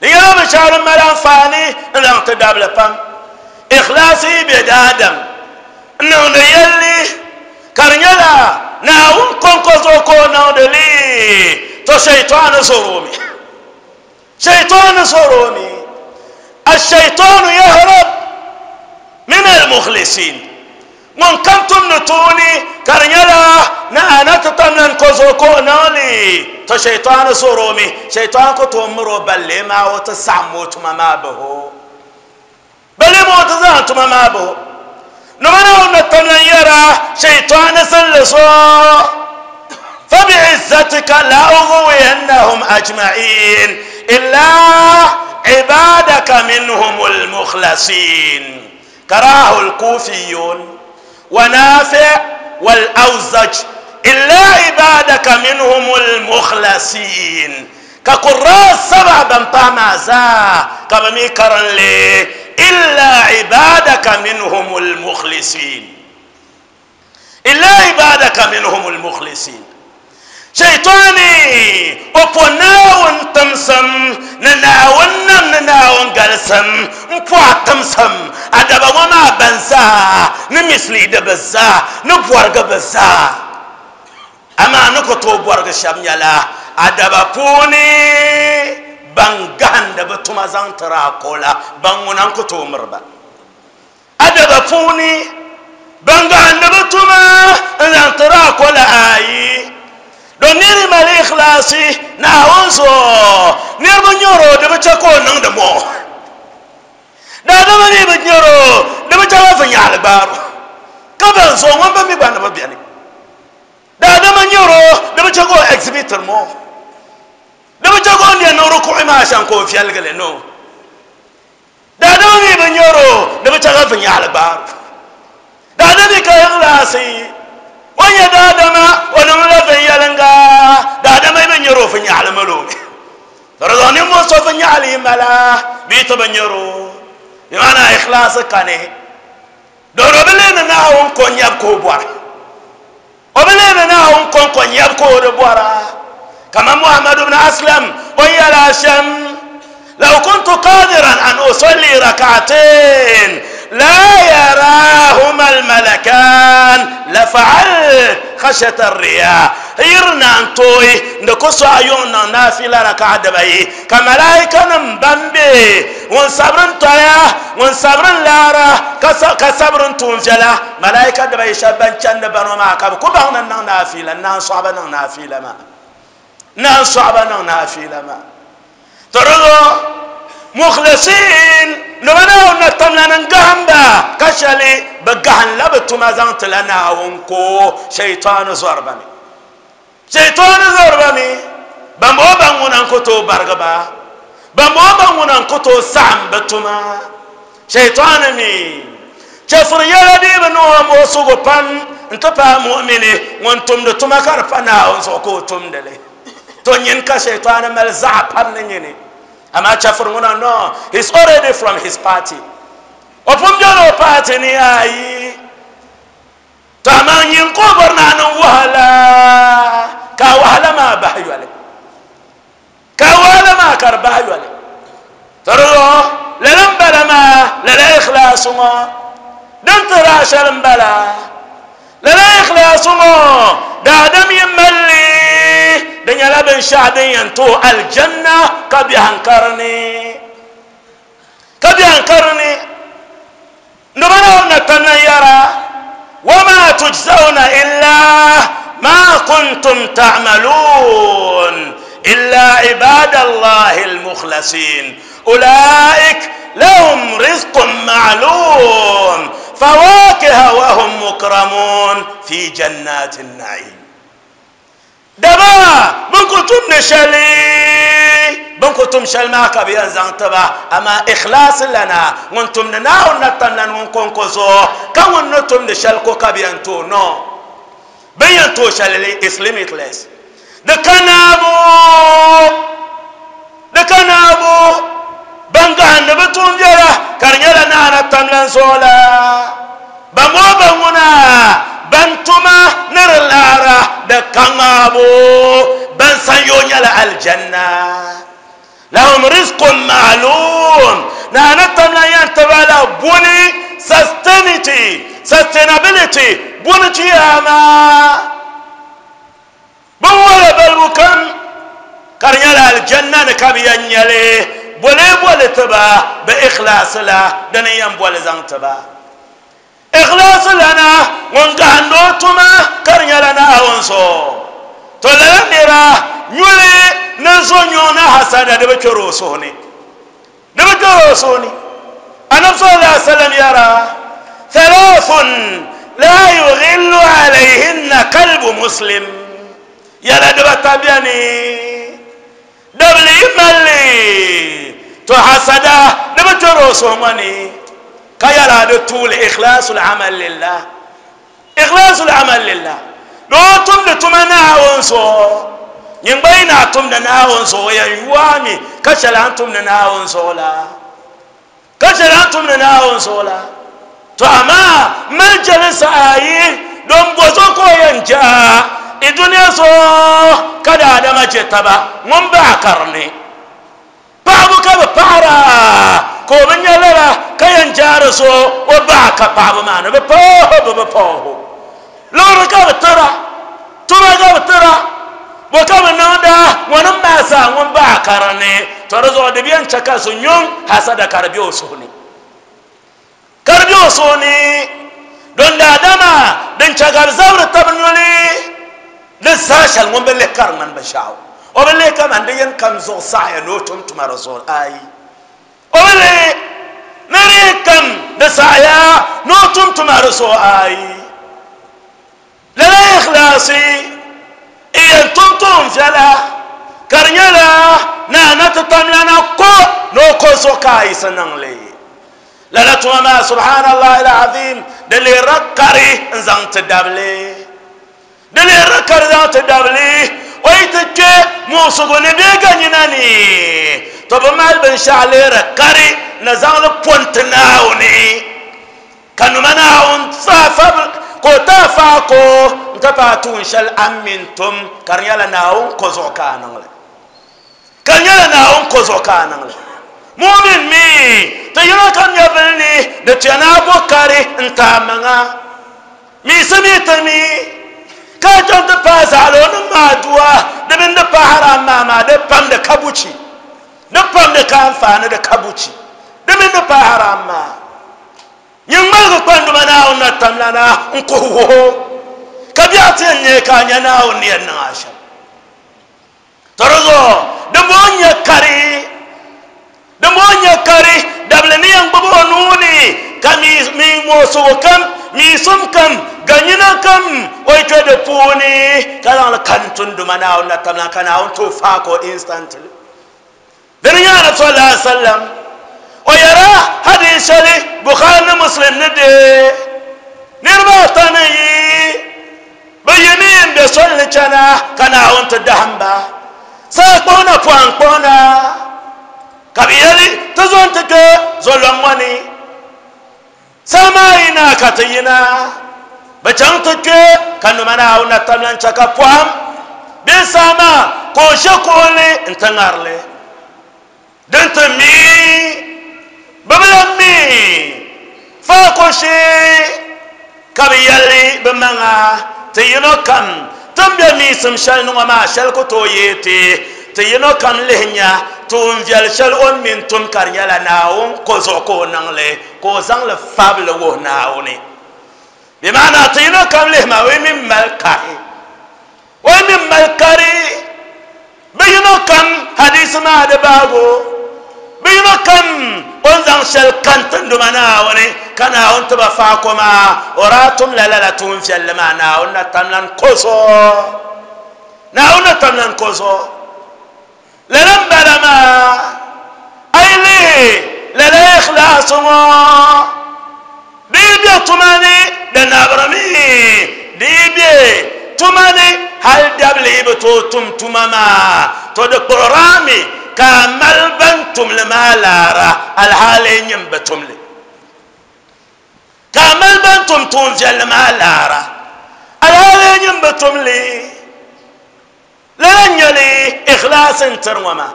Speaker 2: di nyɛla binshaɣu din mali anfaani n zaŋ ti dabili pam ikhlaasi yi bɛ daadam n niŋdi yɛlli ka di nyɛla Naawuni konko zuɣu ka o niŋdi li to shaytani zoromi shaytani zoromi الشيطان يهرب من المخلصين ŋun kam tumdi tuuni ka di nyɛla na ana ti tamlan ko zuɣu ka o niŋli to shaytani zoromi shaytan ku tooi miri o balle maa o ti saɣam o tuma maa baho balle maa o ti zaŋ tuma maa baho nima na na tamlan yɛra shaytani zinli zuɣu فبعزتك لأغوينهم أجمعين إلا عبادك منهم المخلصين كراه الكوفيون ونافع والأوزج إلا عبادك منهم المخلصين كقراء السبع بمطامع زا كبمي كرن لي إلا عبادك منهم المخلصين إلا عبادك منهم المخلصين شيطاني وبناون تمسم نناون نناون قلسم مبوا تمسم أدبا وما بنزا نمثلي دبزا نبورغ بزا أما نكتو بورغ شام يلا أدبا بوني بانغان دبتما زانترا كولا بانغونان كتو مربا أدبا بوني بانغان دبتما زانترا كولا آي don niri mali ikhlasi Naawuni zuɣu niriba nyɛro di bi chɛ ka o niŋdi mo daadama mi bi nyɛro di bi chɛ ba viɛnyɛli gbaaro ka ban zuɣu ŋun bi mi gba ni bi biɛni daadama nyɛro di bi chɛ ka o exhibit mo di bi chɛ ka o niɛ niŋ rukuɣi maa shɛm ka o viɛlgili no daadama mi bi nyɛro di bi chɛ ka viɛnyɛli gbaaro daadama mi ka ikhlasi wanya daadama o niŋla viɛnyɛlinga daadama bi nyɛro viɛnyɛli malo dɔrɔzɔ ni mo so viɛnyɛli mala bii ti bi nyɛro bi maana ikhlaasi kani dɔrɔ bi leeni Naawuni ko nyɛbu ka o bɔra o bi leeni Naawuni ko ko nyɛbu ka o di bɔra kama Muhammadu ibn Aslam o yɛla shɛm law kuntu qadiran an usalli rak'atayn لا يراهما الملكان لفعلت خشية الرياء يرنا انتوي نكسو ايون نافلة ركعة دبي كملائكة نمبمبي ونصبرن تويا ونصبرن لارا كصبرن تونجلا ملائكة دبي شبان چند بنو ما كب كبهن نافلة نان صعبة نافلة ما نان صعبة نافلة ما ترى مخلصين نمنا نتمنى نغهم با كشلي بغهن لبتما زانت لنا ونكو شيطان زربني شيطان زربني بامو بامو نكو برغبا بامو بامو نكو سام بتما شيطان مي شفر يلدي بنو موسو بان انت با مؤمني وانتم دتما كرفنا ونسوكو تمدلي تونين كشيطان ملزع بان نيني Ama chafur nguna no, he's already from his party. Opum jono party ni ayi. Tama nyin ko borna no wahala. Ka wahala ma bahyale. Ka wahala ma kar bahyale. Taro lalam bala ma la ikhlasu ma. Dan tara shalam bala. La ikhlasu ma. Da adam yimalli. Di nyɛla binshaɣu din yɛn tooi aljanna ka biɛhiŋ karini ka biɛhiŋ karini noba na tamlan yara وما تجزون إلا ما كنتم تعملون إلا عباد الله المخلصين أولئك لهم رزق معلوم فواكه وهم مكرمون في جنات النعيم. دبا بنكتم نشالي بنكتم شل معك بينزان تبا أما إخلاص لنا وانتم نناو نتمنى ونكون كزو كون نتم نشالكو كبينتو نو بينتو شللي is limitless. دكنابو دكنابو بنغان نبتون جرا كرنيلا نانا تملن سولا بمو بمونا بنتما نرلارا دكنابو بنسان يلا الجنة لهم رزق معلوم نانا تملن ينتبالا بوني sustainability sustainability بوني تياما بولا بلوكم كرنيلا الجنة نكابيان يلي بولي بولي تبا بإخلاص لا دنيا بولي زان تبا إخلاص لنا ونقاندو تما كرنيلا ناونسو تولى نيرا نولي نزو نيونا حسادة دبكرو سوني دبكرو سوني أنا صلى الله عليه وسلم يرى ثلاث لا يغل عليهن قلب مسلم يلا دبا تبياني دبلي مالي تو حسدا دبا تروسو ماني كيالا دتول إخلاص العمل لله إخلاص العمل لله لو تم دتمنا ونسو ينبينا تم دنا ونسو يا يوامي كشلا تم دنا ونسو لا كشلا تم دنا ونسو لا تو أما مجلس آي دم بوزوكو ينجا الدنيا سو كذا آدم جتبا من بعكرني بعبو كب بعرا كوبن يلا كين جارسو وبعك بعبو ما نبي بوه ببوه لو ركب ترى ترى كب ترى وكم نودا ونما سا من بعكرني ترى زو دبيان شكاسو نيون حسد كربيو سوني كربيو سوني دون آدم دون شكار زور تبنولي لساشل من بالله كرمن بشاو وبالله كم عندين كم زو سعي نوتم تمارسون أي وبالله نري كم لسعيا نوتم تمارسون أي لا إخلاصي إيه تم فلا كرنيلا نانا تتملنا كو نوكو سوكاي سنانلي لا لا تما سبحان الله العظيم دلي ركري انزان تدبلي دلي ركر ذات دبلي ويتك موسو نبيغا نيناني طب مال بن شعلي ركري نزال بونتناوني كانوا مناون صافا كوتا فاكو انتباتون شل امنتم كريالا ناون كوزوكانن كريالا ناون كوزوكانن مؤمن مي تيرا كان يبلني دتينا بوكاري انت منا مي سميتمي كاجون د پازالون ما دوا د من د پهرا ما ما د پم د كابوچي د پم د كانفان د كابوچي د من د پهرا ما يمال كوندو منا اون تملانا انكو هو كبيات ني كانيا نا اون ني ناشا ترزو د مونيا كاري د مونيا كاري دبلني ان بابو نوني كمي مي موسو كم مي سم كم ganyina kam oy to de puni kala la kantun duma na on tamna kana on to fa ko instantly dariya na sallallahu alaihi wasallam o yara hadith ali bukhari muslim ne de nirba tanayi bayanin be solli chana kana on to dahamba sa kona puan kona kabiyali to zon te ke zolomani sama ina katayina bacang teke kanu mana una tamlan chaka puam besama ko shekole ntangarle dente mi babalami fa ko she kabiyali bemanga teyino kam Tin be miisim shɛli ni ŋɔ maa shɛli ku tooi yee ti ti yino kam lihi nya tuun viɛli shɛli o ni mini tum ka di nyɛla Naawuni ko zuɣu ka o niŋli ka o zaŋli fabili wuhi Naawuni bi maana ti yino kam lihi maa o yi mini mali kari o yi mini mali kari bi yino kam hadisi maa di baago bi yino kam o ni zaŋ shɛli kan tinduma Naawuni ka Naawuni ti ba faako maa o daa tumla lala tuun viɛlli maa Naawuni na tamlan ko zuɣu Naawuni na tamlan ko zuɣu lala n bala maa a yi lihi lala ikhlaasu ŋɔ di yi be tuma ni di nabirimi di yi be tuma ni hali dabili yi bi tooi tum tuma maa to di kpuɣirami ka a mali ban tumli maa laara alhaali nyim bi tumli ka a mali ban tum tuun viɛlli maa laara alhaali nyim bi tumli lala n nyɛli ikhlaasi n tiri ŋɔ maa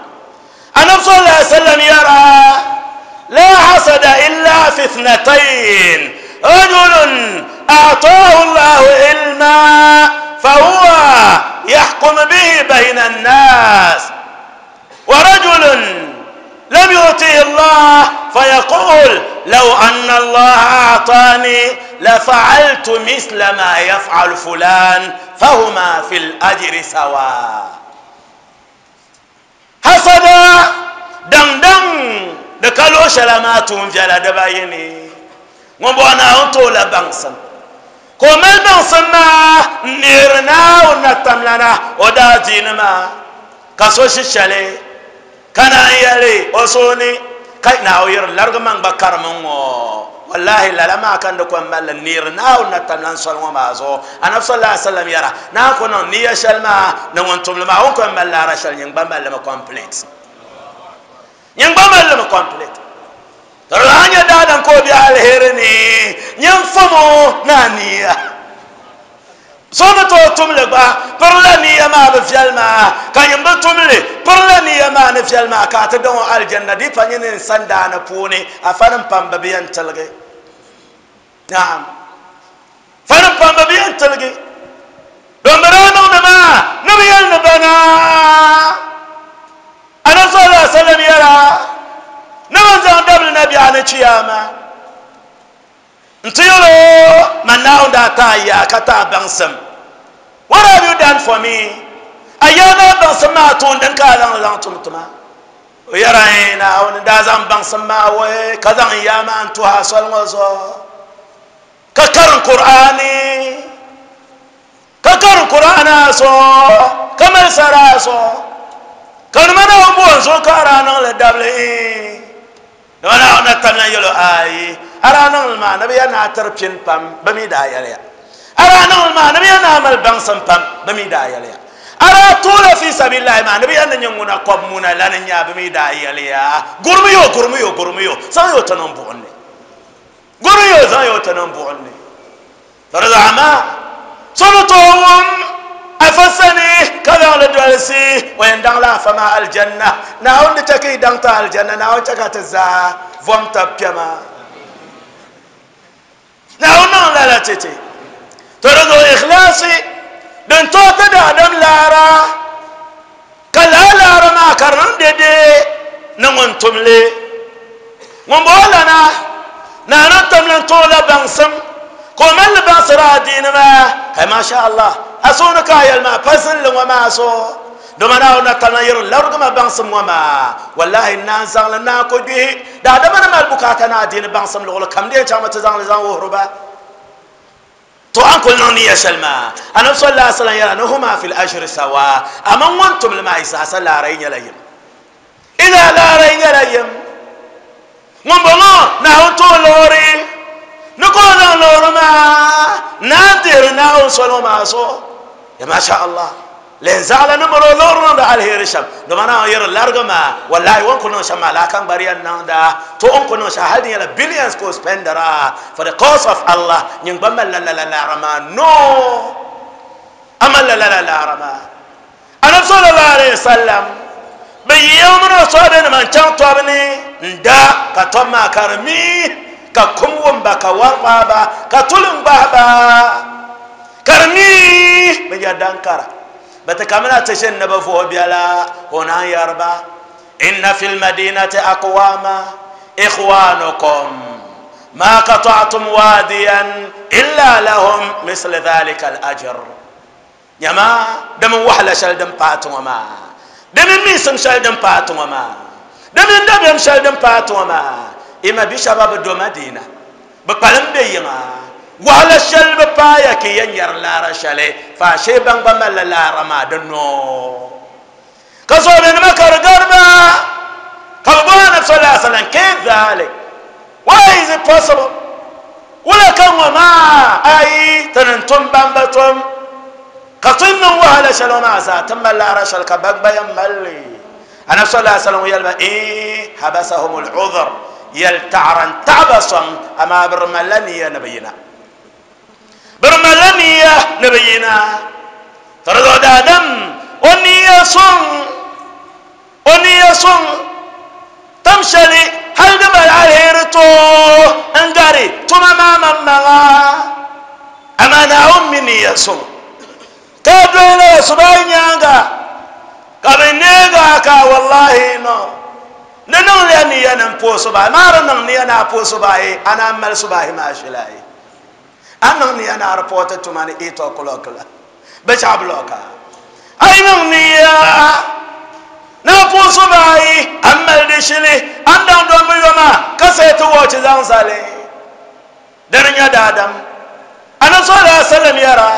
Speaker 2: anabi sallallahu alaihi wasallam yara la hasada illa fi ithnatayn rajulun a'taahu Allahu ilma fahuwa yahkum bihi bayna an-nas ورجل لم يؤته الله فيقول لو أن الله أعطاني لفعلت مثل ما يفعل فلان فهما في الأجر سواء. حسدا دم دم دكالو شلاماتهم جلا دبايني وبوانا أنتو لبانسن كومل بانسن ما نيرنا ونتملنا ودا دينما كسوشي شالي كان يلي أصوني كاي ناوير لارغمان بكر منو والله لا لما كان دكم مال نير ناو نتملن صلى ما زو أنا صلى الله عليه وسلم يرى ناكون نية شلما نوانتم لما أنكم مال لا رشل ينبى مال لما complete ينبى مال لما complete ترى أنا دادم كوبي على هرني ينفمو نانيا somi tooi tumli gba pirila niya maa bi viɛli maa ka nyin bi tumli pirila niya maa ni viɛli maa ka a ti daŋ o aljanna di pa nyini n sandaani puuni afa nim pam bi bi yɛn tiligi naam fa nim pam bi bi yɛn tiligi don bi daa niŋdi maa ni bi yɛli ni bana anabi sallallahu alaihi wasallam yɛra ni bi zaŋ dabili na biɛɣu ni chiyaama Ntiyolo man now that I kata bangsam. What have you done for me? Ayana bangsam ma tundan ka lang lang tumtuma. Uyaraina on dazam bangsam ma we kazan yama antu hasal ngozo. Kakar Qur'ani. Kakar Qur'ana so kamal sara so. Kan mana umbo so karana le dable. Wana ona tamna yolo ayi. Ara ma nabi yana tarpin pam bami da yalya ara ma nabi yana amal bangsan pam bami da yalya ara tula fi sabilillah ma nabi yana nyunguna kob muna lan nya bami da yalya gurmiyo gurmiyo gurmiyo san yo tanan buonne gurmiyo san yo tanan buonne farzama sulutum afasani kaza la dalsi wa yandang la fama aljanna na on take dang ta aljanna na on chaka ta za vom ta pyama نعم لا لا تتي ترضو إخلاصي دن توتا دادم لارا كلا لارا ما كرن دي نمون تملي مبولنا نانا تملن تولا بانسم كومل بانسرا دين ما ما شاء الله أسونك يا الما فزل وما أسو دومنا ونتنا ير لرغم بانسم وما والله إن زغلنا كدي دا دمنا مال بكاتنا دين بانسم لغل كم دي جامعة زغل زغل وهربا تو أنكل نوني يا سلمى أنا صلى الله عليه وسلم يرى أنهما في الأجر سواء أما وأنتم لما يسعى لا رين يليم إذا لا رين يليم من بنا نهون لوري نقول لوري ما نادر نهون صلوا ما صو يا ما شاء الله لين زعل نمرو لورنا ده على هيرشم دمنا ير لارغما والله وان كنا شما لا كان بريان ناندا تو ان كنا شاهدين يلا billions ko spendera for the cause of Allah nyin bamma la la la la rama no amal la la la la rama ana sallallahu alaihi wasallam bi yawmin sabin man chan tabni nda ka tomma karmi ka kumwum ba ka warba ba ka tulum ba ba karmi Bi dankara bata kamina tashin na bafo biala hona yarba inna fil madinati aqwama ikhwanukum ma qata'tum wadiyan illa lahum misl dhalika al ajr nyama dam wahla shal dam paatu ma dam misam shal dam paatu ma dam dam shal dam paatu ma ima bi shabab do madina bi palam be yima wala shal bi paaya ki yan yar lara shale fa she bang ba mal lara ma danno ka so be ma kar garba ka bo na sallallahu alaihi wasallam kayf dhalik, why is it possible? Wala kan wa ma ai tanantum bambatum ka tunnu wala shal ma za tamma lara shal ka bang bayan malli ana sallallahu alaihi wasallam yalba eh habasahum al-udhr yalta'ran ta'basan ama birmalani ya nabiyina برملانية نبينا ترضى دادم ونية صن ونية صن تمشلي هل دبل عليه رتو انقاري ثم ما مما أما نعم مني صن كابلنا سبعين يانغا كابنيغا كا والله نو ننون لأني أنا مبو سبعي ما رنون أنا أبو سبعي أنا أمل سبعي ما شلاي أنا أنا ربوت تماني إيتو كلوكلا بشابلوكا أي نيا نابو سباي أما الدشلي أندم دوم يوما كسيت واتش زانزالي درنيا دادم أنا صلى الله عليه وسلم يرى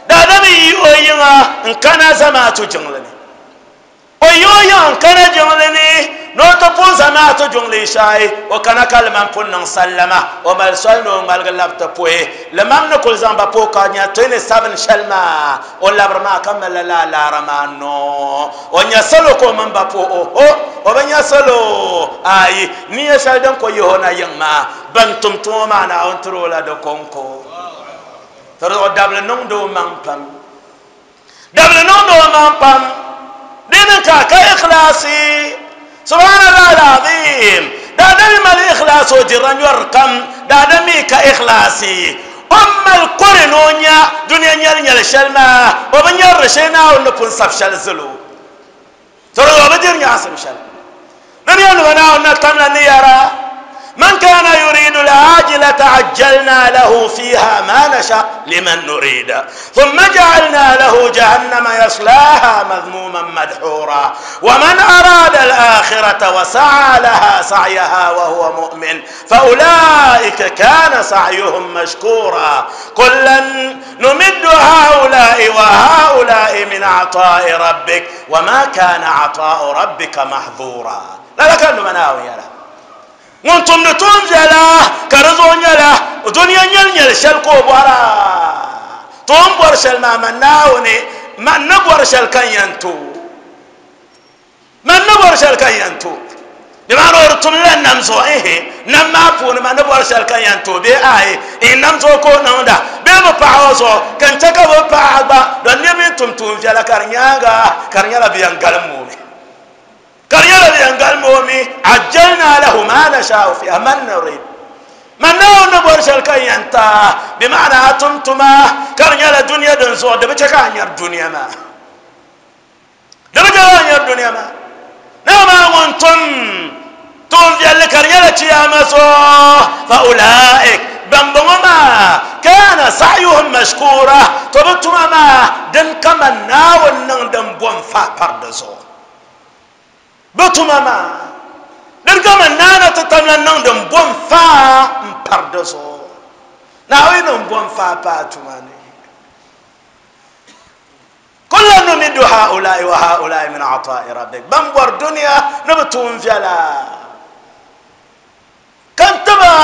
Speaker 2: دادم يوينا إن كان زماتو جنلني ويويا إن كان جنلني نوتو pun zamaatu jungli shai o kana kalman pun nang sallama o mal sol no mal galab ta poe le mam ne kul zamba po ka nya twenty-seven shalma o labr ma kamal la la ramano o nya solo ko man ba po o o o ba nya solo ai ni ya shal dan ko yo na yang ma ban tum tum ma na on tro la do konko tro dable nong do man pam dable nong do man pam din ka ka ikhlasi سبحان الله العظيم دادم الإخلاص وجران يرقم دادمي كإخلاصي أم القرنونيا دنيا نيال نيال شلما وبن يرشينا ونكون صف شل زلو ترى وبدير نعصم شل دنيا نبنا ونتمنى نيارا من كان يريد العاجلة عجلنا له فيها ما نشاء لمن نريد ثم جعلنا له جهنم يصلاها مذموما مدحورا ومن أراد الآخرة وسعى لها سعيها وهو مؤمن فأولئك كان سعيهم مشكورا كلا نمد هؤلاء وهؤلاء من عطاء ربك وما كان عطاء ربك محظورا لا لا كانوا مناوي يا لا وانتم نتون جلا كرزون جلا ودنيا نيل نيل شل كو بورا توم بور شل ما مناوني ما نبور شل كان ينتو ما نبور شل كان ينتو بما نورتم لن نمزو إيه نما فون ما نبور شل كان ينتو بي آي إن نمزو كو نوندا بي بفاوزو كان تكبو فاغبا دنيا بيتم توم جلا كرنياغا كرنيالا بيان غلمومي كريالا بيانقال مومي عجلنا له ما نشاء فيها من نريد من نو نبور شلكا ينتا بمعنى أتمتما كريالا دنيا دنسو دبتشكا ير دنيا ما دبتشكا ير دنيا ما نما وانتم تون في كريالا تياما سو فأولئك بمبوما كان سعيهم مشكورا تبتما ما دن كما ناو نن دن بوم فا پردزو بتوما ما دركما نانا تتمنى نندم بوم فا مپردزو ناوي نم بوم فا باتوماني كل نمد هؤلاء وهؤلاء من عطاء ربك بمبر دنيا نبتون فيلا كنتبا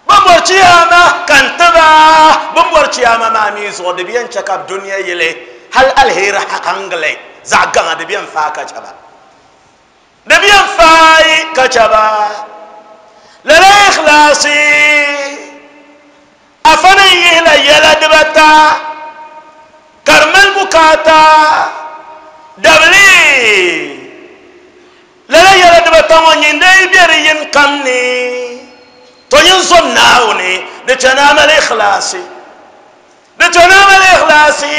Speaker 2: بمبر تياما كنتبا بمبر تياما ما ميزو دبيان شكاب دنيا يلي هل الهير حقنغلي زعقان دبيان فا كچبا دبيان فاي كچبا لا إخلاصي أفني يلا يلا دبتا كرمل بكاتا دبلي لا يلا دبتا ونين بيري ينكمني تونين صنعوني دتنام الإخلاصي Di tooi mali ikhlaasi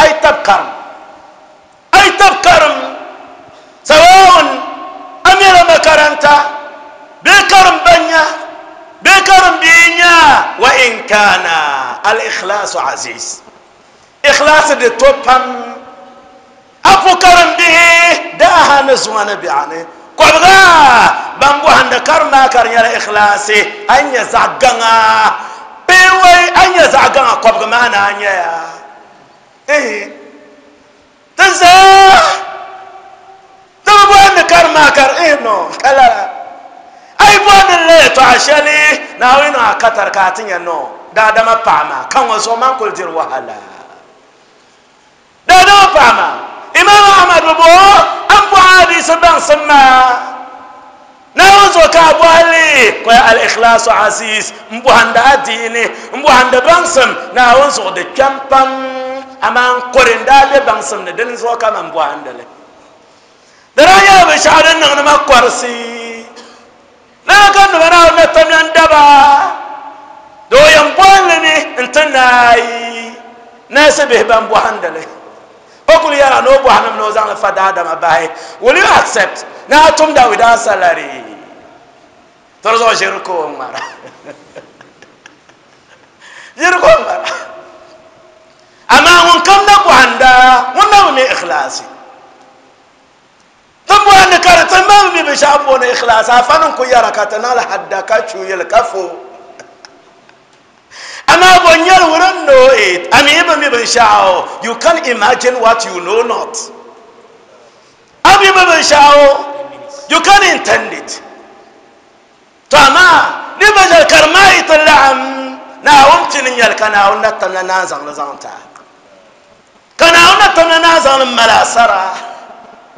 Speaker 2: a yi tabi karim a yi tabi karim sawaun a mɛla makaranta bee karim banya bee karim bia nya wa in kana al ikhlaasu aziz ikhlaasi di to pam a po karim bihi daaha ni zuŋa ni biɛɣuni kɔbiga ban bɔhindi karim maa ka di nyɛla ikhlaasi a yi nyɛ zaɣ gaŋa bee wai a nyɛ zaɣ gaŋa kɔbiga maa na a nyɛya ti zaa ti bi bɔhindi karim maa ka di no ka lala a yi bɔhindi la yɛltɔɣa shɛli Naawuni niŋ a katari ka a ti nyɛ no daadama paɣa maa ka ŋɔ zuɣu man kuli diri wahala daadama paɣa maa Imam Ahmad bi bo an bɔhi hadisi baŋsim maa Naawuni zuɣu ka a bɔhili ko al ikhlaasu aziz n bɔhindi adiini n bɔhindi baŋsim Naawuni zuɣu di kpɛm pam amaa n kɔri n daa be baŋsim ni dini zuɣu ka man bɔhindi li di daa nyɛla binshaɣu din niŋdi ma kɔrisi lala ka nima Naawuni na tamya n daba doo yɛn bɔhindi mi n ti naayi naasi bihi ban bɔhindi li o kuli yɛra ni o bɔhindim ni o zaŋli fa daadama bahi. Will you accept na a tumda without salary? To zuɣu ʒiri ka o ŋmara ʒiri ka o ŋmara amaa ŋun kam na bɔhinda ŋun na bi mi ikhlaasi tin bɔhindi ka di tin maa bi mi binshaɣu booni ikhlaasi afa ni ku yɛra ka ti niŋli hadda ka chuyili ka fo amaa bo nyɛli we don't know it. I mean, even mi binshaɣu you can't imagine what you know not. A mi bi binshaɣu you can't intend it. To amaa ni ba shɛli ka di maa yi ti laɣim Naawuni pini nyɛli ka Naawuni na tamla naan zaŋli zaŋ ti a ka Naawuni na tamla naan zaŋli mali asara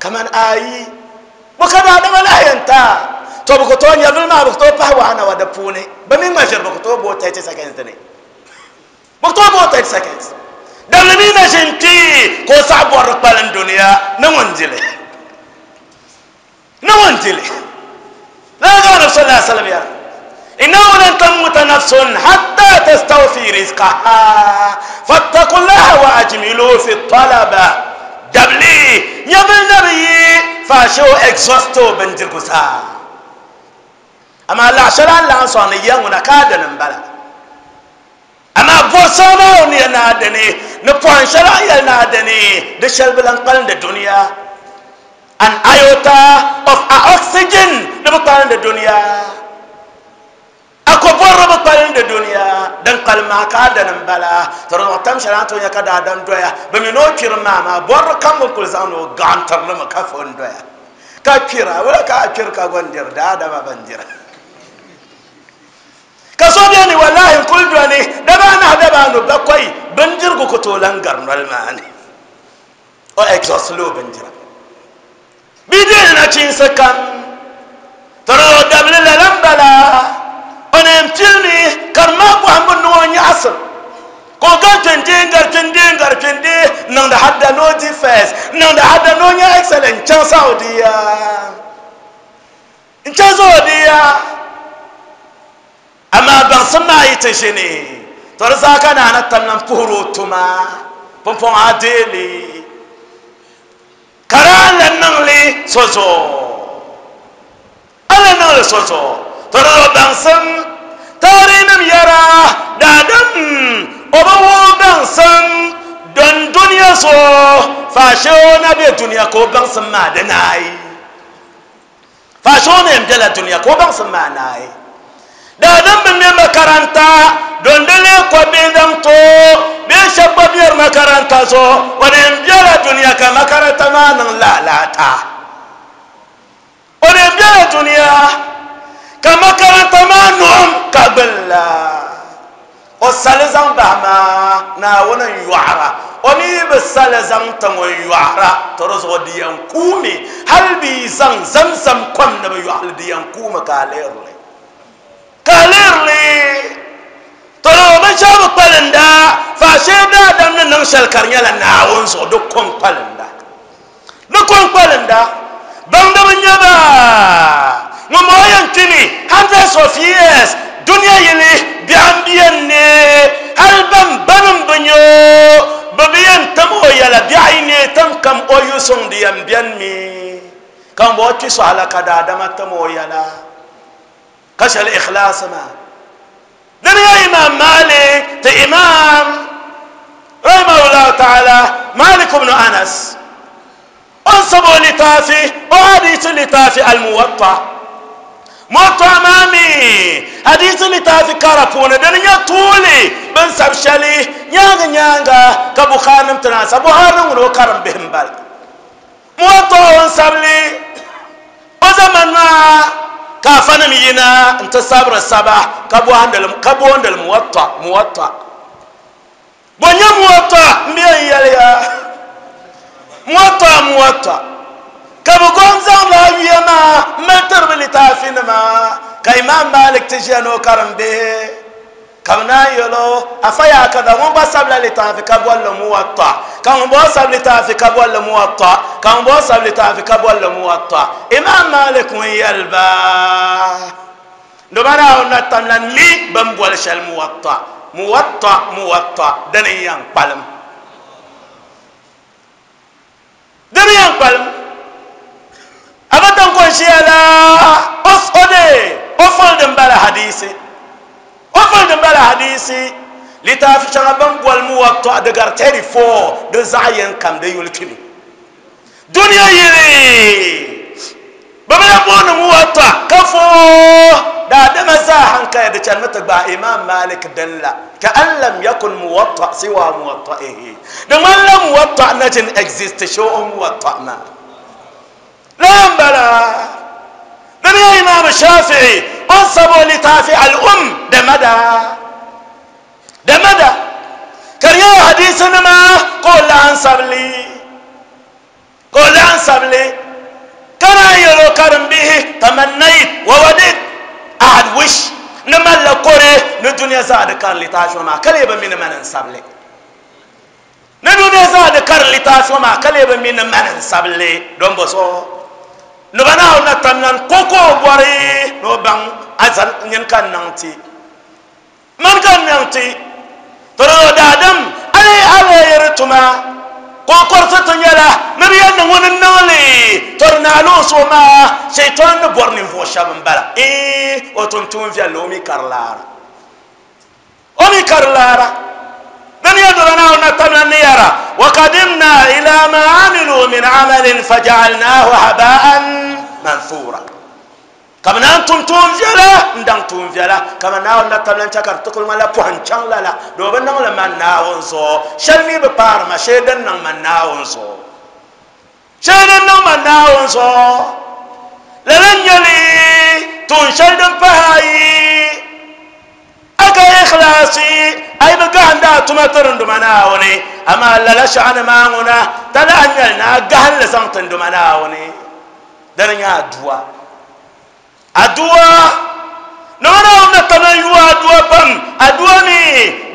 Speaker 2: kaman ayi bo ka daadama lahi yɛn ta to bi ku tooi nyɛvili maa bi ku tooi pahi waana wa di puuni bi mi ŋma ʒiri bi ku tooi booi thirty seconds dini bi ku tooi booi thirty seconds dabili mi na ʒin kpii ka o saɣa bɔrili kpalim duniya ni ŋun dili ni ŋun dili lala ka Anabi sallallahu alaihi wasallam yɛra إنه لن تموت نفس حتى تستوفي رزقها فاتقوا الله وأجملوا في الطلب دبلي يبل نبي فاشو اكزوستو بنجرغسا أما لا شران لا صاني يونا كادن بلا أما بوسانا وني نادني نبوان شران ينادني دشل بلان قلن الدنيا an iota of oxygen نبقى الدنيا ako borro ba palin da duniya dan kalma ka da nan bala taro tam sharan to ya ka da dan doya ba mi no kirma ma borro kan mun kul zano gantar na ka fon doya ka kira wala ka kir ka gondir da da ba bandira ka so biya ni wallahi kul doni da ba na da ba no bakwai bandir ko to langar nol ma ne o exhaust lo bandira bidin na cin sakan taro dabli la lambala onem tilmi karma ko hambu no nyaasam ko ga tende ngar tende ngar tende nan da hadda no defense nan da hadda no nya excellent chan saudiya in chan saudiya amma ban san ma yi ta shine to rza kana na tamnan fuhuru tuma pompon adeli karan lan nan li sozo ala nan li sozo toro bangsam tarinim yara dadam oba wo bangsam don duniya so fashe na be duniya ko bangsam ma da nayi fashe na yamdala duniya ko bangsam ma nayi dadam bin me makaranta don dole ko be dam to be shabba biyar makaranta so wani yamdala duniya ka makaranta ma nan lalata wani yamdala duniya kama karanta ma nu'um kabilla o sali zaŋ bahi ma Naawuni n yɔɣira o mi bi sali zaŋ tiŋ o yɔɣira to di zuɣu di yɛn kuumi hali bi zaŋ zamzam kom ni bi yɔɣili di yɛn kuumi ka a lihirili ka a lihirili to di binshɛɣu bi kpalinda faashee daadam ni niŋ shɛli ka di nyɛla Naawuni zuɣu di kom kpalinda di kom kpalinda baŋdiba nyɛ ba ŋun maa yɛn kpini hundreds of years duniya yili biɛhiŋ biɛni ne hali ban banim bi nyɛ sɔŋdi yɛm bɛni mi ka n bɔ kpi sɔhila ka daadama tam o yɛla ka shɛli ikhlaasi maa dini ya imam Malik ti imam rahimahullahu ta'ala Malik ibn Anas on sabo litafi o hadisi litafi al-Muwatta Muwatta mami hadisi litafi kara puuni dini nyɛ tuuli bin sabi shɛli nyaanga nyaanga ka Bukhari nim ti naan sa Bukhari nim ŋuni o karim bihi n bala Muwatta on sabili o zaman maa ka afanim yina n ti sabiri saba ka boondili Muwatta Muwatta bo nyɛ Muwatta n bɛ yɛn yɛliya Muwatta Muwatta ka bi gom zaŋ la yuya maa n mali tiri bi litaafi nima ka Imam Malik ti ʒiya ni o karim bihi ka bi naan yɛlo afa yaa kaza ŋun gba sabila litaafi ka bolli Muwatta ka ŋun bɔ sabi litaafi ka bolli Muwatta ka ŋun bɔ sabi litaafi ka bolli Muwatta Imam Malik ŋun yɛliba ndoba Naawuni na tamla mi bin boli shɛli Muwatta Muwatta Muwatta dini n yɛn kpalim dini yɛn kpalim abatan ko ʒiya la o de o foli din bala hadisi o foli din bala hadisi litaafi shɛŋa bin boli Muwatta di gari thirty four di zaɣ yɛn kam di yuli kpimi duniya yili bi bi lahi booni Muwatta ka fo daadama zaa hankali di chanimi ti gbaai Imam Malik din la ka an lam yakun Muwatta siwa Muwatta'ihi di ŋmanila Muwatta na jin exist shee o Muwatta maa la n bala dini ya Imam Shafi'i on sabo litaafi al-um da mada da mada kariya hadisi nima ko lahan sabili ko lahan sabili kana yɛlo karim bihi tamannayt wa wadid I had wish ni malla kore ni duniya zaa di kari litaafi maa ka lee bi mi ni mani n sabili ni duniya zaa di kari litaafi maa ka lee bi mi ni mani n sabili don bo so noba Naawuni na tamlan koko bɔri ni o baŋ azan nyin ka niŋ ti man ka niŋ ti toro daadam ale ale yɛri tuma kokorisi ti nyɛla ni bi yɛn niŋ ŋuni niŋli tori naalo so maa shaitan ni bɔri ninvuɣu shɛba n bala ee o tum tuun viɛlli o mi kari laara o mi kari laara dini yɛ dola Naawuni na tamla ni yɛra wa qadimna ila ma amilu min amalin fajaalnahu habaan manthura ka bi naan tum tuun viɛla n daŋ tuun viɛla ka bi Naawuni na tamla n chɛ ka di ti kuli ŋmanila pɔhim chaŋ lala doo bi niŋli man Naawuni zuɣu shɛli mi bi paari ma shee din niŋ man Naawuni zuɣu shee din niŋ man Naawuni zuɣu lala n nyɛli tuun shɛli din pahi ayi aka ikhlaasi ay bi gahindi a tuma tiri n duma Naawuni amaa lala shɛɣani maa ŋuna ta lahi nyɛli ni a gahinli zaŋ ti n duma Naawuni dini nyɛ aduwa aduwa nima Naawuni na tamla yuwa aduwa pam aduwa mi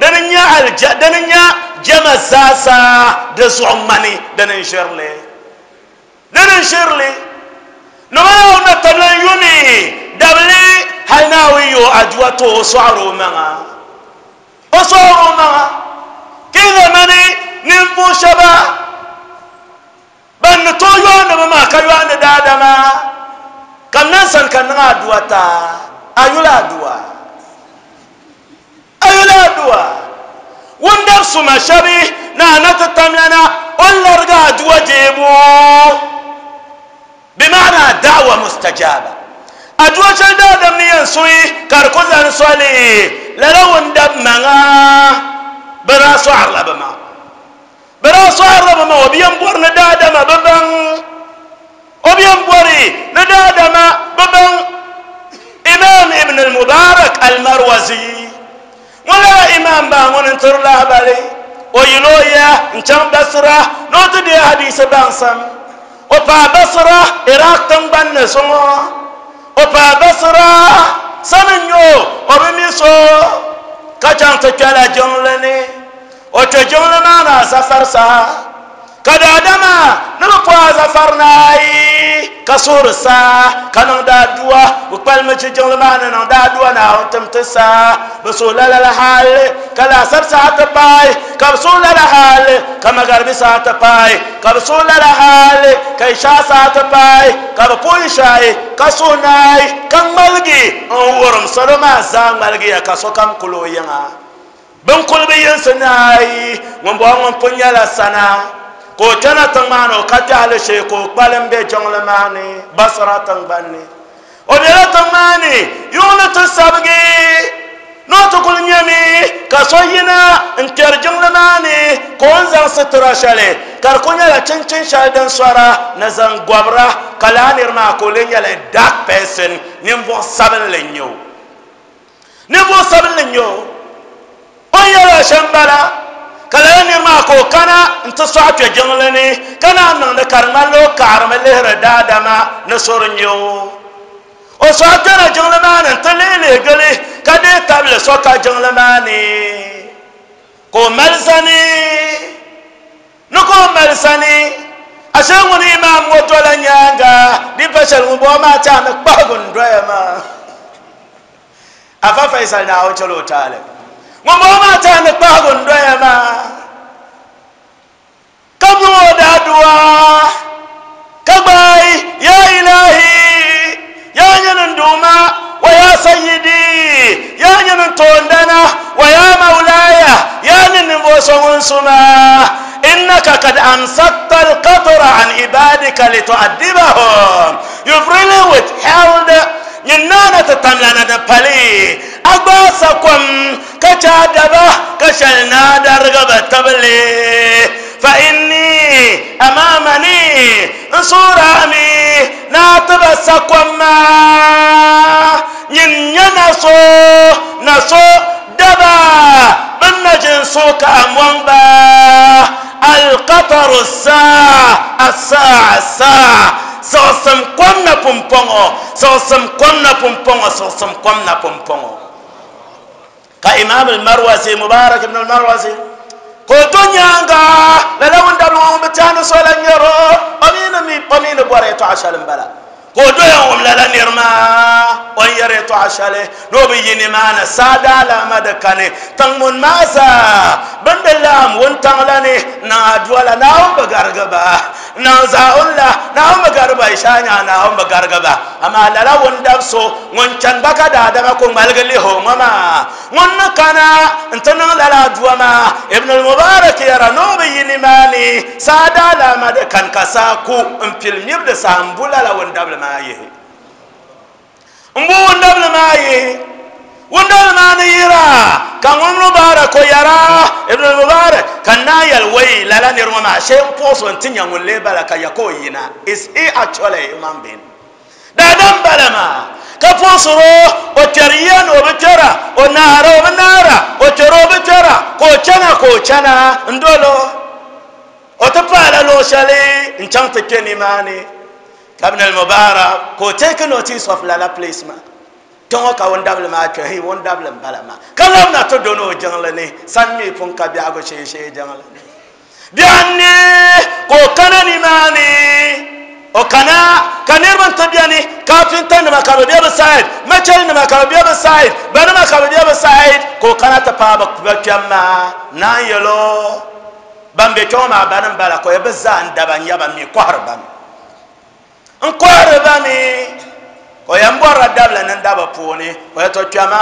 Speaker 2: dini nyɛ alja dini nyɛ jama zaasa di zuɣu ŋmani dini n ʒirili dini n ʒirili nima Naawuni na tamla yumi dabili hali Naawuni yo aduwa to o sɔɣiri o maŋa o sɔɣiri o maŋa ki zamani ninvuɣu shɛba ban ni tooi yooni bi maa ka yooni daadama kam nan san ka niŋ aduwa ta a yuli aduwa a yuli aduwa wundab suma shɛbi na na ti tamlana o larigi aduwa deebu bimaana da'wa mustajaba aduwa shɛli daadam ni yɛn suhi ka di ku zani soli lala wundab maŋa bi daa sɔɣirila bi maŋa bi daa sɔɣirila bi maŋa o bi yɛn bɔri ni daadama bi baŋ o bi yɛn bɔri ni daadama bi baŋ Imam Ibn al-Mubarak al-Marwazi ŋun lala imam baa ŋuni n tiri lahabali o yili o ya n chaŋ Basra ni o ti deei hadisi baŋsam o paai Basra Iraq tiŋgbani ni zuŋɔ o paai Basra sani n nyɛ o o bi mi so ka chaŋ ti kpɛla jiŋli ni o kpɛ jiŋli maa ni a safari saha Ka daadama ni bi pɔa zafari naayi ka suhuri saa ka niŋ daadua bi kpalimi chi jiŋli maa ni niŋ daadua Naawuni tim ti saa bi suhu lala la hali ka laasari saa ti paai ka bi suhu lala hali ka magaribi saa ti paai ka bi suhu lala hali ka ishaa saa ti paai ka bi puhi shaayi ka suhu naai ka ŋmaligi n wurim salo maa zaa ŋmaligiya ka sokam kuli o yiŋa bin kuli bi yinsi naayi ŋun bɔŋɔ ŋun pun nyɛla sana ka o kpɛna tiŋ maa ni o ka kpɛhili shee ka o kpalim be jiŋli maa ni Basra tingbani ni o bela tiŋ maa ni yuŋ ni ti sabigi ni o ti kuli nyɛmi ka so yina n kpɛri jiŋli maa ni ka o ni zaŋ sitira shɛli ka di ku nyɛla chinchin shɛli din sɔra ni zaŋ gɔbira ka laa niri maa ka o lee nyɛla dark person ninvuɣu sabinli n nyɛ o ninvuɣu sabinli n nyɛ o o ni yɛla shɛm bala ka lala niri maa ka o kana n ti sɔɣi kpɛ jiŋli ni ka naan niŋdi ka di ŋmanila o kaɣarimi lihiri daadama ni sori n nyɛ o o sɔɣi kpɛna jiŋli maa ni n ti lihi lihi gili ka deei tabili so ka jiŋli maa ni ka o mali sani ni ka o mali sani ashe ŋuni imaam ŋɔ dola nyaanga di pa shɛli ŋun bɔŋɔ maa tiɛha ni kpahigu n doya maa afa Faisal Naawuni chɛla o taali ŋun bɔŋɔ maa tiɛha ni kpahigu n doya maa ka niŋ o daadua ka gbaai ya ilahi ya nyini n duuma wa ya sayyidi ya nyini n toondana wa ya maulaya ya ni ninvuɣu so ŋun suma innaka kad amsakta alqatra an ibadika litu'addibahum. You've really withheld nyin naana ti tamlana ni pali a gbaasa kom ka chɛ a daba ka shɛli naa darigi bi tibili fa inni amamani n suurami naa ti ba sa kom maa nyin nyɛ na so na so daba bin na jin so ka a mɔŋ ba alqataru saa asaa asaa siɣisim kom na pumpɔŋɔ siɣisim kom na pumpɔŋɔ siɣisim kom na pumpɔŋɔ ka Imam al-Marwazi Mubarak ibn al-Marwazi ka o do nyaanga lala ŋun dabili ŋɔ ŋun bi tiɛhi ni so la nyɛro o mi ni mi o mi ni bɔri yɛltɔɣa shɛli n bala ka o doya wum lala niri maa o ni yɛri yɛltɔɣa shɛli ni o bi yi nimaani saa daalaama di kani tiŋ mun maa zaa bin di laɣam wuntaŋ la ni niŋ aduwa la Naawuni bi garigi ba niŋ zaawun la Naawuni bi garigi ba ishaa nyaa Naawuni bi garigi ba amaa lala wundab so ŋun chani ba ka daadama ku ŋmaligi lihi o ŋɔ maa ŋun ni kana n ti niŋ lala aduwa maa Ibn al-Mubarak yɛra ni o bi yi nimaani saa daalaama di kani ka saa ku n pili miri di saha n bu lala wundabli maa yihi n bu wundabli maa yihi wundabli maa ni yira ka ŋun Mubarak o yɛra Ibn al-Mubarak ka naa yɛli wai lala niri ŋɔ maa shee n puɣusi n ti nya ŋun lee bala ka ya ka o yina. Is he actually a human being? Daadam bala maa ka puɣusiro o kpɛri yiya ni o bi kpɛra o naara o bi naara o kpɛri o bi kpɛra ka o chana ka o chana n dolo o ti paala luɣu shɛli n chaŋ ti kpɛ nimaani ka Ibn al-Mubarak ka o take notice of lala place maa kpɛŋɔ ka wundabili maa kpɛ hi wundabili n bala maa ka labina ti doni o jiŋli ni sani mi pun ka biɛhigu shee shee jiŋli ni biɛhi ni ka o kana nimaani o kana ka niriba n ti biɛni kafinta nima ka bi bɛ bi side machɛli nima ka bi bɛ bi side banima ka bi bɛ bi side ka o kana ti paai bi kpɛm maa naan yɛlo ban bɛ kpɛŋɔ maa bani n bala ka o yɛ bi zaa n daba n nyɛ mi kɔhiri ba mi n kɔhiri ba mi ka o yɛn bɔrila dabili ni daba puuni o yɛ to kpɛma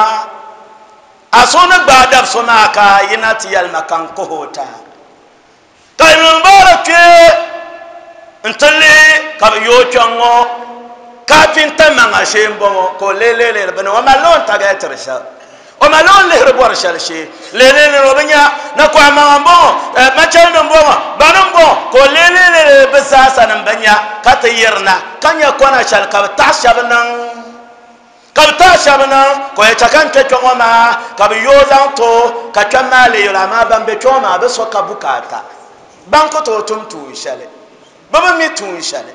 Speaker 2: a so ni gbaai dab so maa ka yina ti yɛlima ka n kohi o ta ka Ibn Mubarak kpɛ n ti lihi ka bi yooi kpɛŋ ŋɔ kafinta maŋa shee n bɔŋɔ ka o leelele bini o malila o ni tagatiri shɛli o malila o ni lihiri bɔri shɛli shee leelele o bi nya na kɔhi maŋa n bɔŋɔ machɛli nim bɔŋɔ bani n bɔŋɔ ka o leelele bi zaasa nim bi nya ka ti yirina ka nya kɔna shɛli ka bi taɣa shɛba niŋ ka bi taɣa shɛba niŋ ka o yɛ chɛ ka n kpɛ kpɛŋɔ maa ka bi yooi zaŋ to ka kpɛm maa lee yɛli amaa ban bɛ kpɛŋɔ maa bi so ka bukaata ban ku tooi tum tuun shɛli bi bi mi tuun shɛli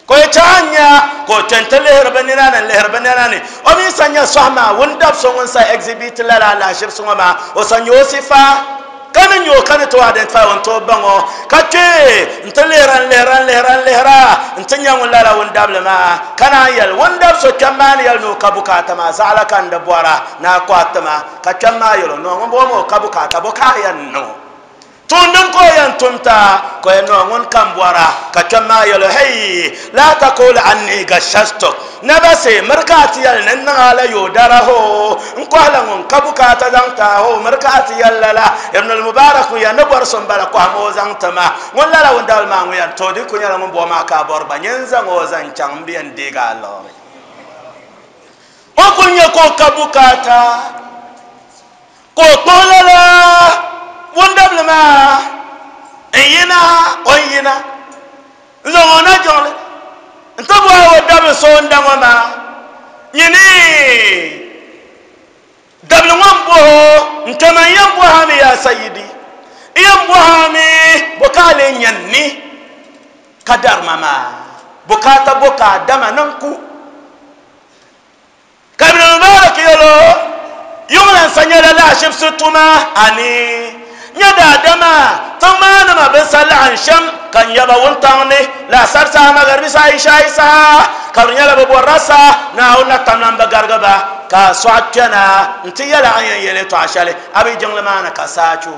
Speaker 2: ka o yɛ chɛ a nya ka o kpɛ n ti lihiri bi nina ni lihiri bi nina ni o mi sa nya sɔhi maa wun dab so ŋun sa exhibit lala alahiʒibisi ŋɔ maa o sa nya o sifa Kana nyo kana to identify on to bango ka ke ntelera lera lera lera ntenya wala la won dable ma kana yel won dab so kamani yel no kabuka ta ma zala kan da bora na kwatama ka kamma yelo no ngbo mo kabuka ta boka yan no tundun ko yan tumta ko yan no ngon kan bora ka kamma yelo hey la taqul anni gashasto nabase markati yal nan ala yo daraho nko ala ngon kabuka ta zanta ho markati yal la ibn al mubarak ya nabar son bala ko mo zanta ma ngon la la won dal ma ngon yan to di ko nyala ngon bo ma ka bor ba nyenza ngo zan chang biyan diga lo o ko nye ko kabuka ta ko tolala wondable ma eyina oyina nzongona jongle ntobo wodable so ndango ma nyini dable ngombo ntama yambo hami ya sayyidi yambo hami bokale nyanni kadar mama bokata boka dama nanku kabla mubarak yolo yumlan sanyala la shibsutuma ani nyada dama tamana ma bin sallan sham kan yaba wontanne la sarsa magarbi sa isha isa kan yala bo rasa na wona tamnan ba gargaba ka swatana nti yala an yele to ashale abi jangla mana ka sachu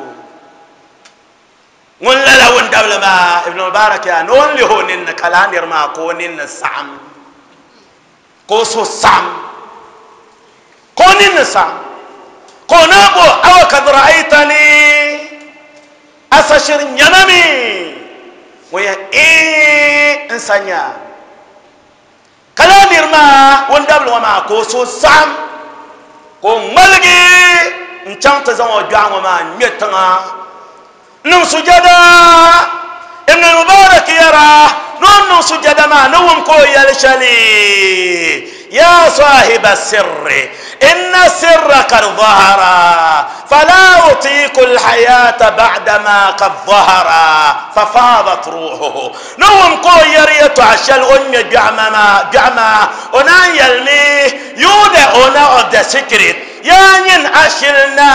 Speaker 2: won la la won dabla ma ibn mubarak ya non li honin kalanir ma ko nin sam ko so sam ko nin sam ko na bo aw kad ra'aytani asashir nyamami waya eh insanya kalanir ma won dabla ma ko so sam ko malgi nchang ta zango jwango ma nyetanga num sujada ibn mubarak yara non num sujada ma num ko yalshali يا صاحب السر إن السر قد ظهر فلا أطيق الحياة بعدما قد ظهر ففاضت روحه نوم كو يريت عشال أم جعمما جعما أنا يلمي يودع أنا of the secret yanyin ashilna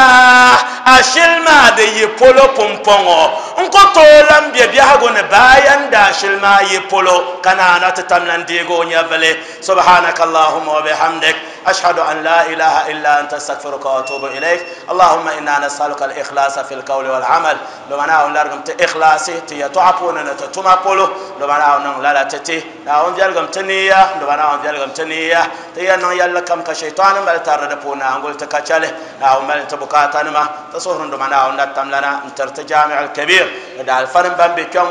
Speaker 2: ashilma de yipolo pompongo nko tolam bia bia go ne bayan da ashilma yipolo kana na tatamlan digo nyavle subhanaka allahumma wa bihamdik ashhadu an la ilaha illa anta astaghfiruka wa atubu ilaik allahumma inna nas'aluka al-ikhlasa fil qawli wal amal lumana on largam te ikhlasi ti ya tuapuna na tatuma polo lumana on la la tati na on jalgam taniya lumana on jalgam taniya ti ya nan yalla kam ka shaytan bal tarada puna angol تكاتله أو مال تبكاتنا ما تصورن دمنا أو نتم لنا انترت جامع الكبير دا الفرن بام بكم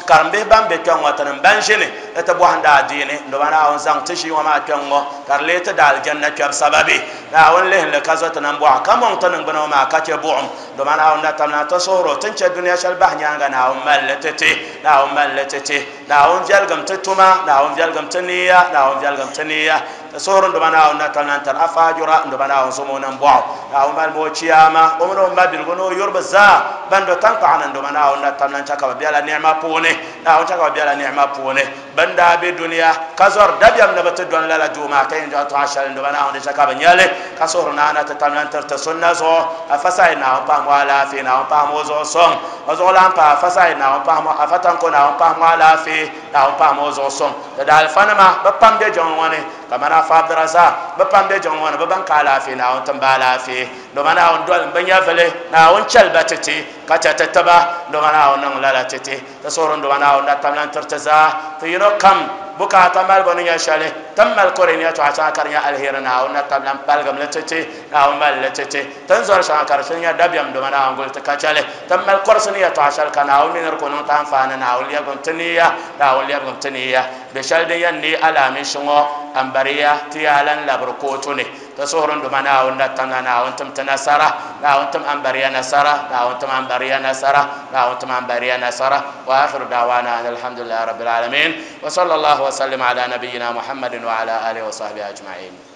Speaker 2: كرم به بام بكم وتنم بنشني تبوهن دا ديني دمنا أو زان تشي وما كم كرليت دا الجنة كب سببي أو له لكذا تنبوع كم تنم بنا ما كتبوهم دمنا أو نتم لنا تصورو تنش الدنيا شلبه نيانغنا أو مال تتي أو مال تتي أو جالغم تتوما أو جالغم تنيا أو جالغم تنيا تصورن دمنا أو نتم لنا تر أفاجرا دمنا أو سمونا بواو أو مال موشياما ومنو ما بيلغونو يربزا بندو تنقعنا دمنا أو نتم لنا شكوا بيلا نعمة بوني أو شكوا بيلا نعمة بوني بندا بدنيا كزور دبيام نبت دون لا دوما كين جات عشان دمنا أو نشكوا بنيالي كسورنا أنا تتم لنا ترتسونا زو أفساينا أو بام ولا فينا أو بام وزو سون وزولان با أفساينا أو بام أفتانكونا أو بام ولا في أو بام وزو سون تدال فنما بام بيجون كما نافع دراسة بام بيجون بام كالا فينا أو تنبالا في دمنا أو دول بنيافله نا أو نشل بتتي كتتتبا دمنا أو نغلا تتي تصورن دمنا أو نتمنى ترتزا تينو كم بكا تمال بنيا شاله تمال كورينيا تعشى كرنيا الهيرنا أو نتمنى بالغم لتتي أو مال لتتي تنزل شاكر شنيا دبيم دمنا أو قلت كشاله تمال كورسنيا تعشى كنا أو من ركون تنفعنا أو ليكم تنيا أو ليكم تنيا بشال ديني على مشوا أمبريا تيالن لبركوتني تصورن دمنا أو نتمنى أو أنتم تنصرة أو أنتم أمبريا نصرة أو أنتم أمبريا نصرة أو أنتم أمبريا نصرة وآخر دعوانا أن الحمد لله رب العالمين وصلى الله وسلم على نبينا محمد وعلى آله وصحبه أجمعين.